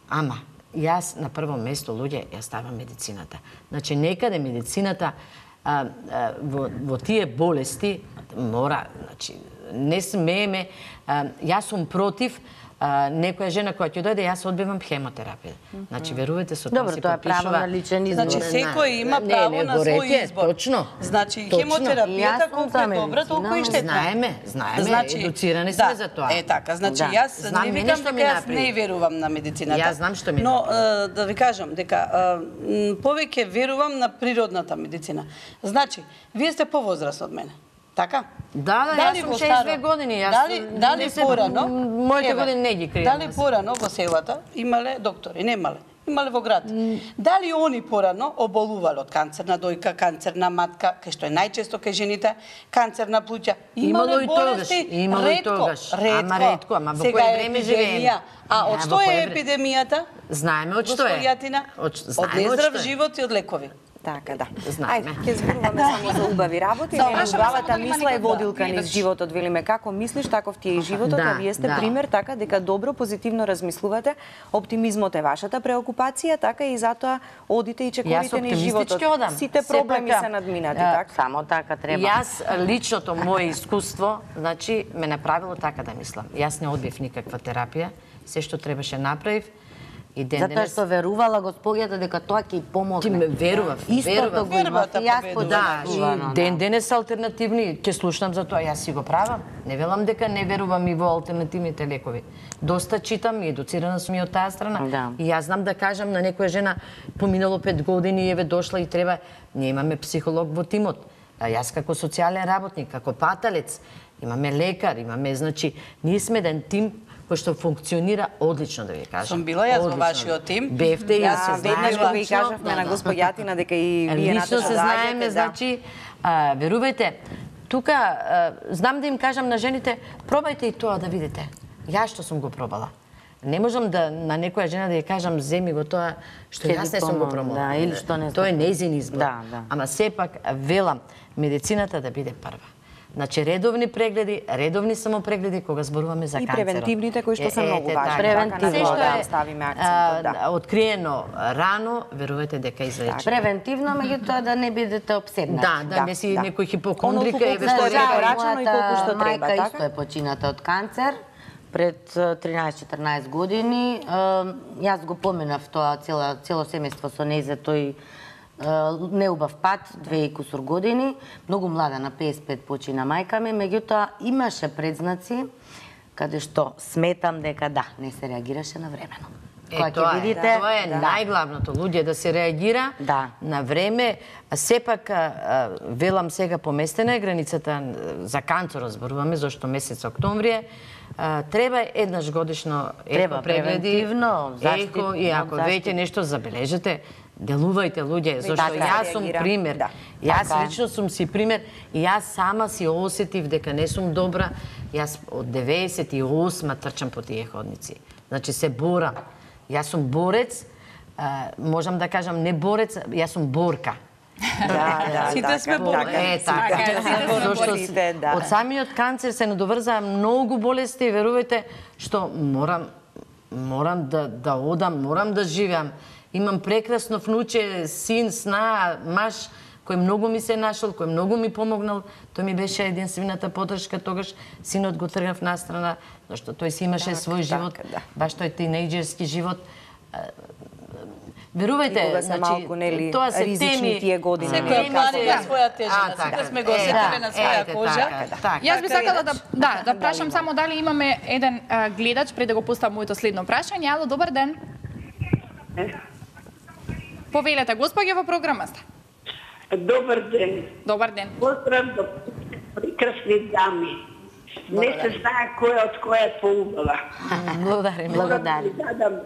Ама, јас на прво место, луѓе, јас ставам медицината. Значи, некаде медицината во тие болести мора, значи, не смееме, јас сум против некоја жена која ќе дојде, јас одбивам хемотерапија. Значи, верувате, со тоа си Добро, тоа е право на личен избор. Значи, секој има право на свој избор. Точно. Значи, хемотерапијата колку е добра, толку и штетна. Знаеме, едуцирани сме за тоа. Е така, значи јас не викам дека јас не верувам на медицината. Јас знам што ми но да ви кажам дека повеќе верувам на природната медицина. Значи, вие сте повозрасни од мене. Така? Да, јас сум 62 години. Дали порано? Моите години не ги кријам. Дали порано во селата имале доктори? Немале. Имале во град. Дали они порано оболувале од канцер на дојка, канцер на матка, кај што е најчесто кај жените, канцер на плуќа? Имало и тогаш. Ама ретко, ама во кое време живееме? А од што е епидемијата? Знаеме од што е. Од нездрав живот и од лекови. Така, да. Знаеме. Ајде, ќе зборуваме само за убави работи. Главата мисла е водилка низ животот, велиме како мислиш, таков ти е и животот, а вие сте пример така дека добро, позитивно размислувате, оптимизмот е вашата преокупација, така и затоа одите и чекорите низ животот. Сите проблеми се надминати, така? Само така треба. Јас личното моје искуство, значи ме направило така да мислам. Јас не одбив никаква терапија, се што требаше направив. Затоа што верувала господјата дека тоа ќе помогне. Ти ме верував, Истото го имав и јас и ден денес алтернативни, ќе слушнам за тоа, јас си го правам. Не велам дека не верувам и во алтернативните лекови. Доста читам и едуцирана сум и од таа страна. И јас знам да кажам на некоја жена, поминало 5 години, еве дошла и треба, ние имаме психолог во тимот. Јас како социјален работник, како паталец, имаме лекар, имаме, значи, ние сме еден тим кој што функционира одлично, да ви кажам. Сум била јас во вашиот тим. Бевте и јас веднаш го и кажавме на господјатина дека и вие Наташа се знаеме, значи, верувајте, тука знам да им кажам на жените, пробајте и тоа да видите. Јас што сум го пробала. Не можам да на некоја жена да ја кажам земи го тоа што јас не сум го пробала. Да, или што не. Тоа е нејзин избор. Да. Ама сепак велам медицината да биде прва. Значи редовни прегледи, редовни самопрегледи кога зборуваме за И канцерот. превентивните кои што се многу важни. Превентивно, Така, на тоа да. да ставиме акцентот, да. Откриено рано, верувате дека излечи. Превентивно, меѓутоа да не бидете обседнати. Да, не си некој хипокондрик, Оно еве што што е препорачено и колку Мојата што треба, мајка така? исто е почината од канцер пред 13-14 години. Јас го поминав тоа цело семејство со нејзе, тој неубав пат, 2 и кусур години. Многу млада, на 55 почина мајка ми, меѓутоа имаше предзнаци каде што сметам дека да, не се реагираше на времено. Кога ќе видите, тоа е најглавното, луѓе да се реагира на време. Сепак, велам сега, поместена е границата за канцерот, зборуваме, зашто месец октомври е. Треба еднаш годишно еко прегледи, еко, и ако веќе нешто забележите, делувајте луѓе, зашто јас сум пример. Јас лично сум си пример и јас сама си осетив дека не сум добра. Јас од 98 трчам по тие ходници. Значи се борам. Јас сум борец, можам да кажам не борец, јас сум борка. Сите сме борци. Од самиот канцер се надоврзаа многу болести, верувајте, што морам да одам, морам да живеам. Имам прекрасно внуче, син, сна, маж, кој многу ми се нашол, кој многу ми помогнал. Тој ми беше единствената поддршка, тогаш синот го тргнав настрана, зашто тој си имаше свој живот, баш тој тинејџерски живот. Верувајте, значи, тоа се теми, тие години. Секој млади на своја тежина, сите сме го осетиле на своја кожа. Јас би сакала да прашам само дали имаме еден гледач пред да го поставам моето следно прашање. Ало, добар ден. Повелете, господја во програма сте. Добар ден. Добар ден. Поздрав до прекрасни дами. Не се знае која од која е поубава. Благодарим. Морам да ви дадам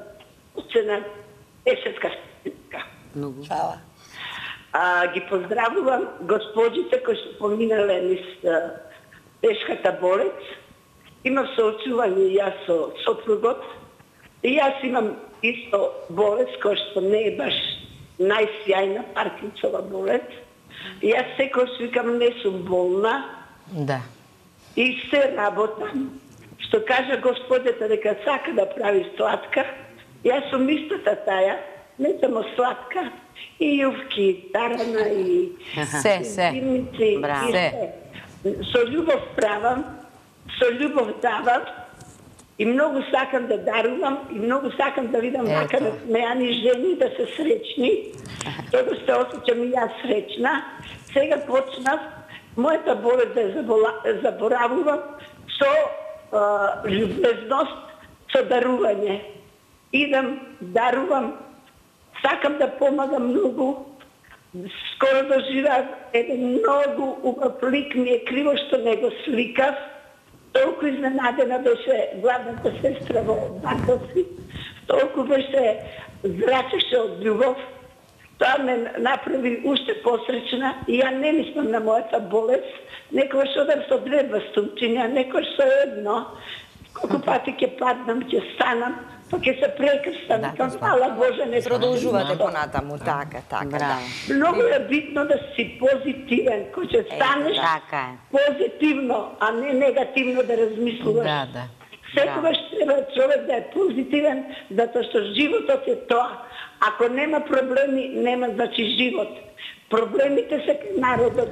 оцена 10-ка степка. Фала. Ги поздравувам госпожите кои што поминале низ тешката болест. Имам соочување и јас со сопругот. И јас имам исто болест која што не е баш најсјајна Паркинсова болест. Јас секој викам не сум болна. Да. И се работам. Што кажа господјата дека сака да прави сладка, јас сум истата таја, не само сладка, и јувки, тарана, и зимници, и се. Со љубов правам, со љубов давам, и многу сакам да дарувам, и многу сакам да видам вака смејани жени, да се среќни. Тоа се осеќам и јас среќна. Сега почнав мојата болест да ја заборавувам со љубезност, со дарување. Идам, дарувам, сакам да помагам многу. Скоро доживеав еден многу убав лик, ми е криво што не го сликав. Толку изненадена беше главната сестра во Бакоси, толку беше зрачеше од љубов. Тоа ме направи уште посречна и ја не мислам на мојата болест. Некојаш одам со 2 бастунчиња, некојаш со едно. Колку пати ќе паднам, ќе станам, па ќе се прекрстам. Фала Боже, не продолжувате понатаму, така. Многу е битно да си позитивен, кој ќе станеш позитивно, а не негативно да размислуваш. Секогаш треба човек да е позитивен, затоа што животот е тоа. Ако нема проблеми, нема значи живот. Проблемите се кај народот.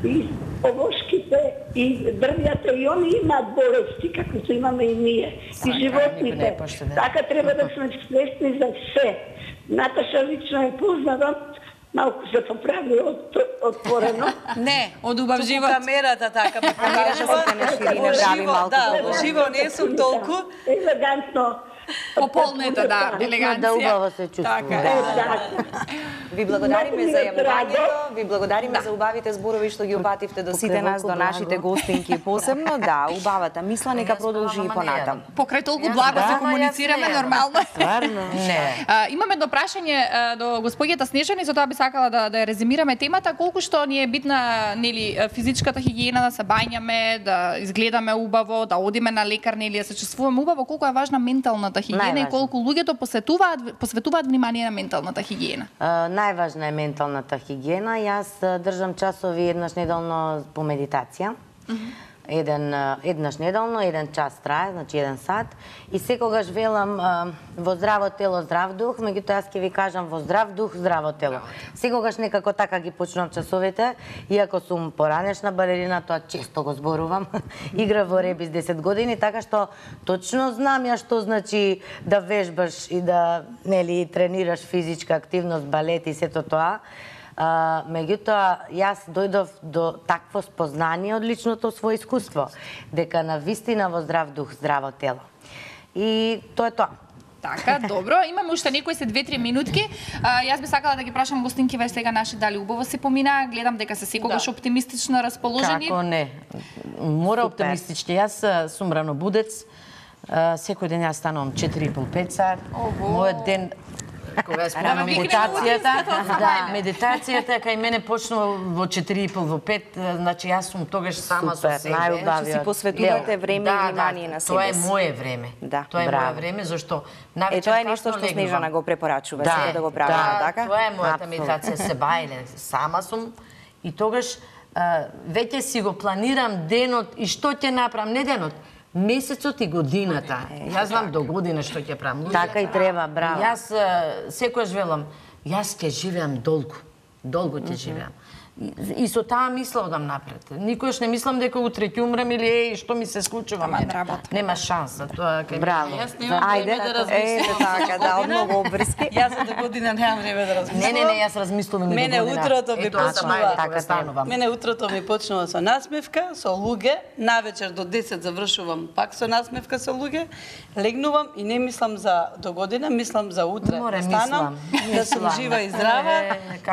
И овошките, и дрвјата, и они имаат болести, како што имаме и ние. И животните. Така треба да сме свесни за се. Наташа лично е познавам, малку се поправи отворено. Не, од убав живот. Камерата така ме во живо не сум толку. Елегантно. Пополнета, елеганција. Да убаво се чувствува. Ви благодариме за јавувањето, ви благодариме за убавите зборови што ги упативте до сите нас, до нашите гостинки посебно. Да, убавата мисла нека продолжи и понатам. Покрај толку благо се комуницираме нормално. Стварно? Не. Имаме едно прашање до господјата Снежани, за тоа би сакала да ја резимираме темата, колку што ни е битна, нели, физичката хигиена, да се бањаме, да изгледаме убаво, да одиме на лекар, нели, да се чувствуваме убаво, колку е важна менталната хигиена и колку луѓето посветуваат внимание на менталната хигиена. Најважна е менталната хигиена. Јас држам часови еднаш неделно по медитација. Еднаш неделно, 1 час трае, значи 1 сат. И секогаш велам во здраво тело, здрав дух, меѓутоа јас ќе ви кажам во здрав дух, здраво тело. Секогаш некако така ги почнувам часовите, иако сум поранешна балерина, тоа често го зборувам. Игра во ребис 10 години, така што точно знам ја што значи да вежбаш и да тренираш физичка активност, балет и сето тоа. Меѓутоа, јас дојдов до такво спознание од личното своје искуство, дека на вистина во здрав дух, здраво тело. И тоа е тоа. Така, добро. Имаме уште некои се 2-3 минутки. Јас би сакала да ги прашам гостинкиве сега наши дали убаво се помина. Гледам дека се секогаш оптимистично расположени. Како не? Мора оптимистички. Јас сум ранобудец. Секој ден јас станувам 4,5-5 сат. Мојот ден кога спомнам медитацијата кај мене почнува во 4,5 во 5, значи јас сум тогаш сама со себе. Значи си посветувате време и внимание на себе. Тоа е моје време. Тоа е моје време зашто навечер тоа е нешто што Снежана го препорачува сега да го правиме, така? Тоа е мојата медитација, се бајле, сама сум и тогаш веќе си го планирам денот и што ќе направам, не денот, месецот и годината. Јас знам до година што ќе правам. Така и треба, браво. Јас секојаш велам, јас ќе живеам долго. Долго ќе живеам. И со таа мисла одам напред. Никош не мислам дека утре ќе умрем или што ми се случува мене. Нема шанса тоа кај. Браво. Ајде, така, да, од многу обврски. Јас за година немам време да размислувам. Не, јас размислувам и Мене утрото ми почнува така станувам. Мене утрото ми почнува со насмевка, со луѓе, навечер до 10 завршувам пак со насмевка со луѓе, легнувам и не мислам за до година, мислам за утре. Станам, да сум жива и здрава.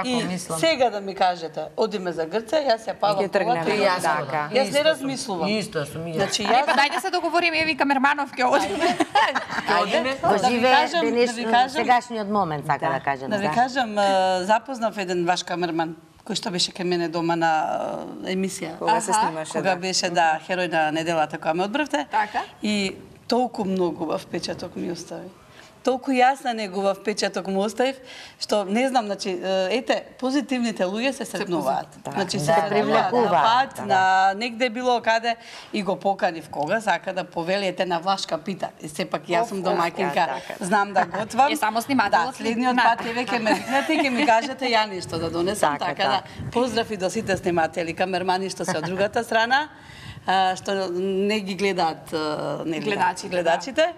И сега да ми кажете, одиме за Грција, јас ја палам колата и јас така. Јас не размислувам. Исто сум и јас. Значи јас дајте се договориме, еви Камерманов ќе одиме. Го живее сегашниот момент, сака да кажам. Да ви кажам, запознав еден ваш камерман кој што беше кај мене дома на емисија. Кога се снимаше, кога беше херој на неделата кога ме одбравте. Така. И толку многу впечаток ми остави. Толку јасна негова впечаток му оставив, што не знам, значи, ете, позитивните луѓе се сретнуваат. Значи се привлекуваат на пат, на негде било каде и го поканив кога сака да повелиете на Влашка пита. И сепак јас сум домаќинка, знам да готвам. Е само снимателот. Да, следниот пат веќе ме викнете и ќе ми кажете ја нешто да донесам, така да поздрав и до сите сниматели, камермани што се од другата страна, што не ги гледаат гледачите.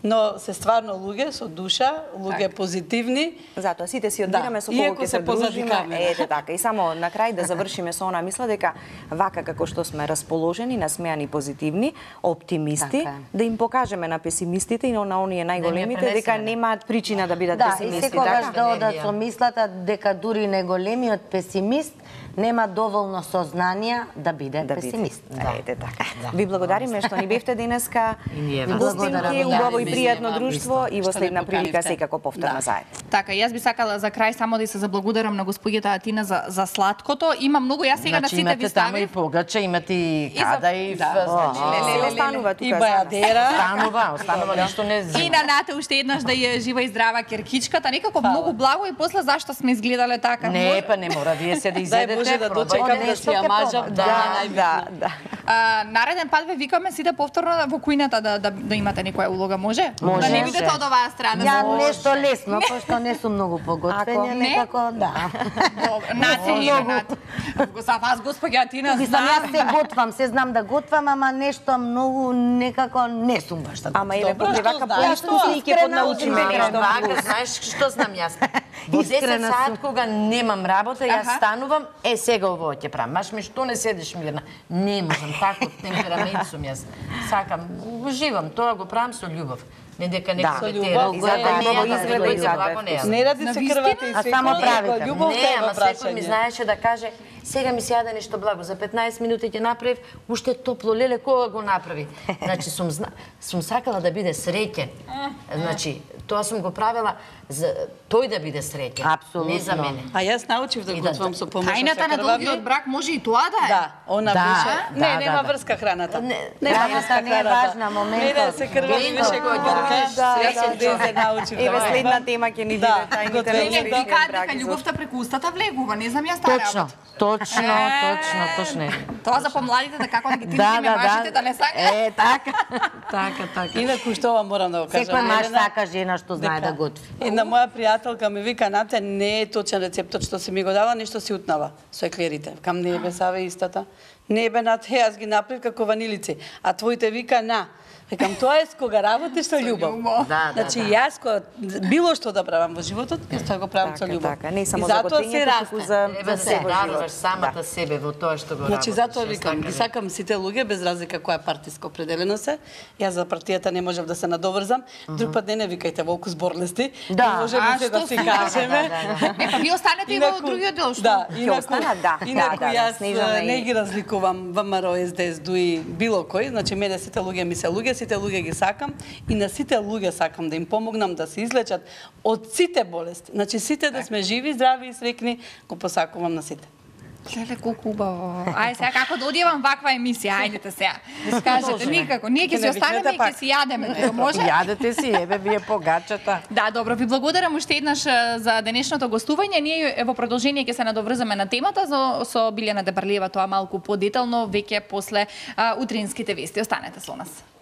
Но се стварно луѓе со душа, луѓе позитивни. Затоа сите си одбираме со кого ќе се дружиме. Ете така. И само на крај да завршиме со она мисла дека вака како што сме расположени, насмеани, позитивни, оптимисти, да им покажеме на песимистите и на оние најголемите дека немаат причина да бидат песимисти. Да, и секогаш да одат со мислата дека дури најголемиот песимист нема доволно сознание да биде песимист. Ете така. Ви благодариме што ни бевте денеска. Гостинки, убаво и пријатно друштво и во следна прилика секако повторно заедно. Така, јас би сакала за крај само да се заблагодарам на госпоѓата Атина за сладкото. Има многу, јас сега на сите ви ставив. Имате и погаче, имате и кадаив. Останува тука. И бајадера. Останува ништо не зима. И на Нате уште еднаш да ја жива и здрава керкичката. Некако многу благо и после зашто сме изгледале така. Не, па не мора вие се да изедете. Може да дочекам да си ја мажам. Да. Нареден пат ве викаме сите повторно во кујната да имате некоја улога, може? Може. Да не бидете од оваа страна. Ја нешто лесно, пошто не сум многу поготвена, некако да. Нате и Нате. За вас госпоѓа Атина Мислам, јас се готвам, се знам да готвам, ама нешто многу некако не сум баш да. Ама еве покрај вака поискуство и ќе поднаучиме нешто. Вака, знаеш што знам јас? Во 10 сат кога немам работа, јас станувам, сега ово ќе правам. Маш ми што не седиш мирна? Не можам, таков темперамент сум јас. Сакам, уживам, тоа го правам со љубов. Не дека некој со љубов, не ради се крвата и а само правите. Не, ама секој ми знаеше да каже сега ми се јаде нешто благо, за 15 минути ќе направив, уште топло, леле, кога го направи. Значи, сум сакала да биде среќен. Значи, Тоа сум го правила за тој да биде среќен, не за мене. А јас научив да готвам со помош на Тајната на долгиот брак може и тоа да е. Да, она беше. Не, нема врска храната. Храната не е важна, моментот. Не се крвави беше кога ќе јас од дезе научив. Еве следна тема ќе ни биде тајните на Не, викаат дека љубовта преку устата влегува, не знам јас таа работа. Точно. Тоа за помладите да како да ги тинтиме машите да не сака. Така. Инаку што ова морам да го кажам. Секој маж сака жена што знае да готви. Една моја пријателка ми вика, Нате, не е точен рецептот што си ми го дала, нешто си утнава со еклерите. Кам не бе саве истата. Не бе, Нате, јас ги направив како ванилици, а твоите вика на. Викам, тоа е кога работиш со љубов. Значи, јас кога било што да правам во животот, јас тоа го правам со љубов. Така, не само за готвењето, туку за себе живот. Самата себе во тоа што го работиш. Значи, затоа викам, ги сакам сите луѓе, без разлика која партиска определено се. Јас за партијата не можев да се надоврзам. Друг пат не викајте волку зборлести. Не можеме се да си кажеме. Ви останете и во другиот дел, што? Да, инаку јас не ги разликувам ВМРО, СДС, ДУИ, било кој. Значи, мене сите луѓе ми се луѓе, сите луѓе ги сакам и на сите луѓе сакам да им помогнам да се излечат од сите болести. Значи, сите да сме живи, здрави и среќни, го посакувам на сите. Леле, колку убаво. Ајде сега како да одјевам ваква емисија, ајдете сега. Кажете, никако. Ние ќе си останеме и ќе си јадеме, може? Јадете си, еве вие погачата. Да, добро, ви благодарам уште еднаш за денешното гостување. Ние во продолжение ќе се надоврзаме на темата со Билјана Дебарлиева, тоа малку подетално веќе после утринските вести. Останете со нас.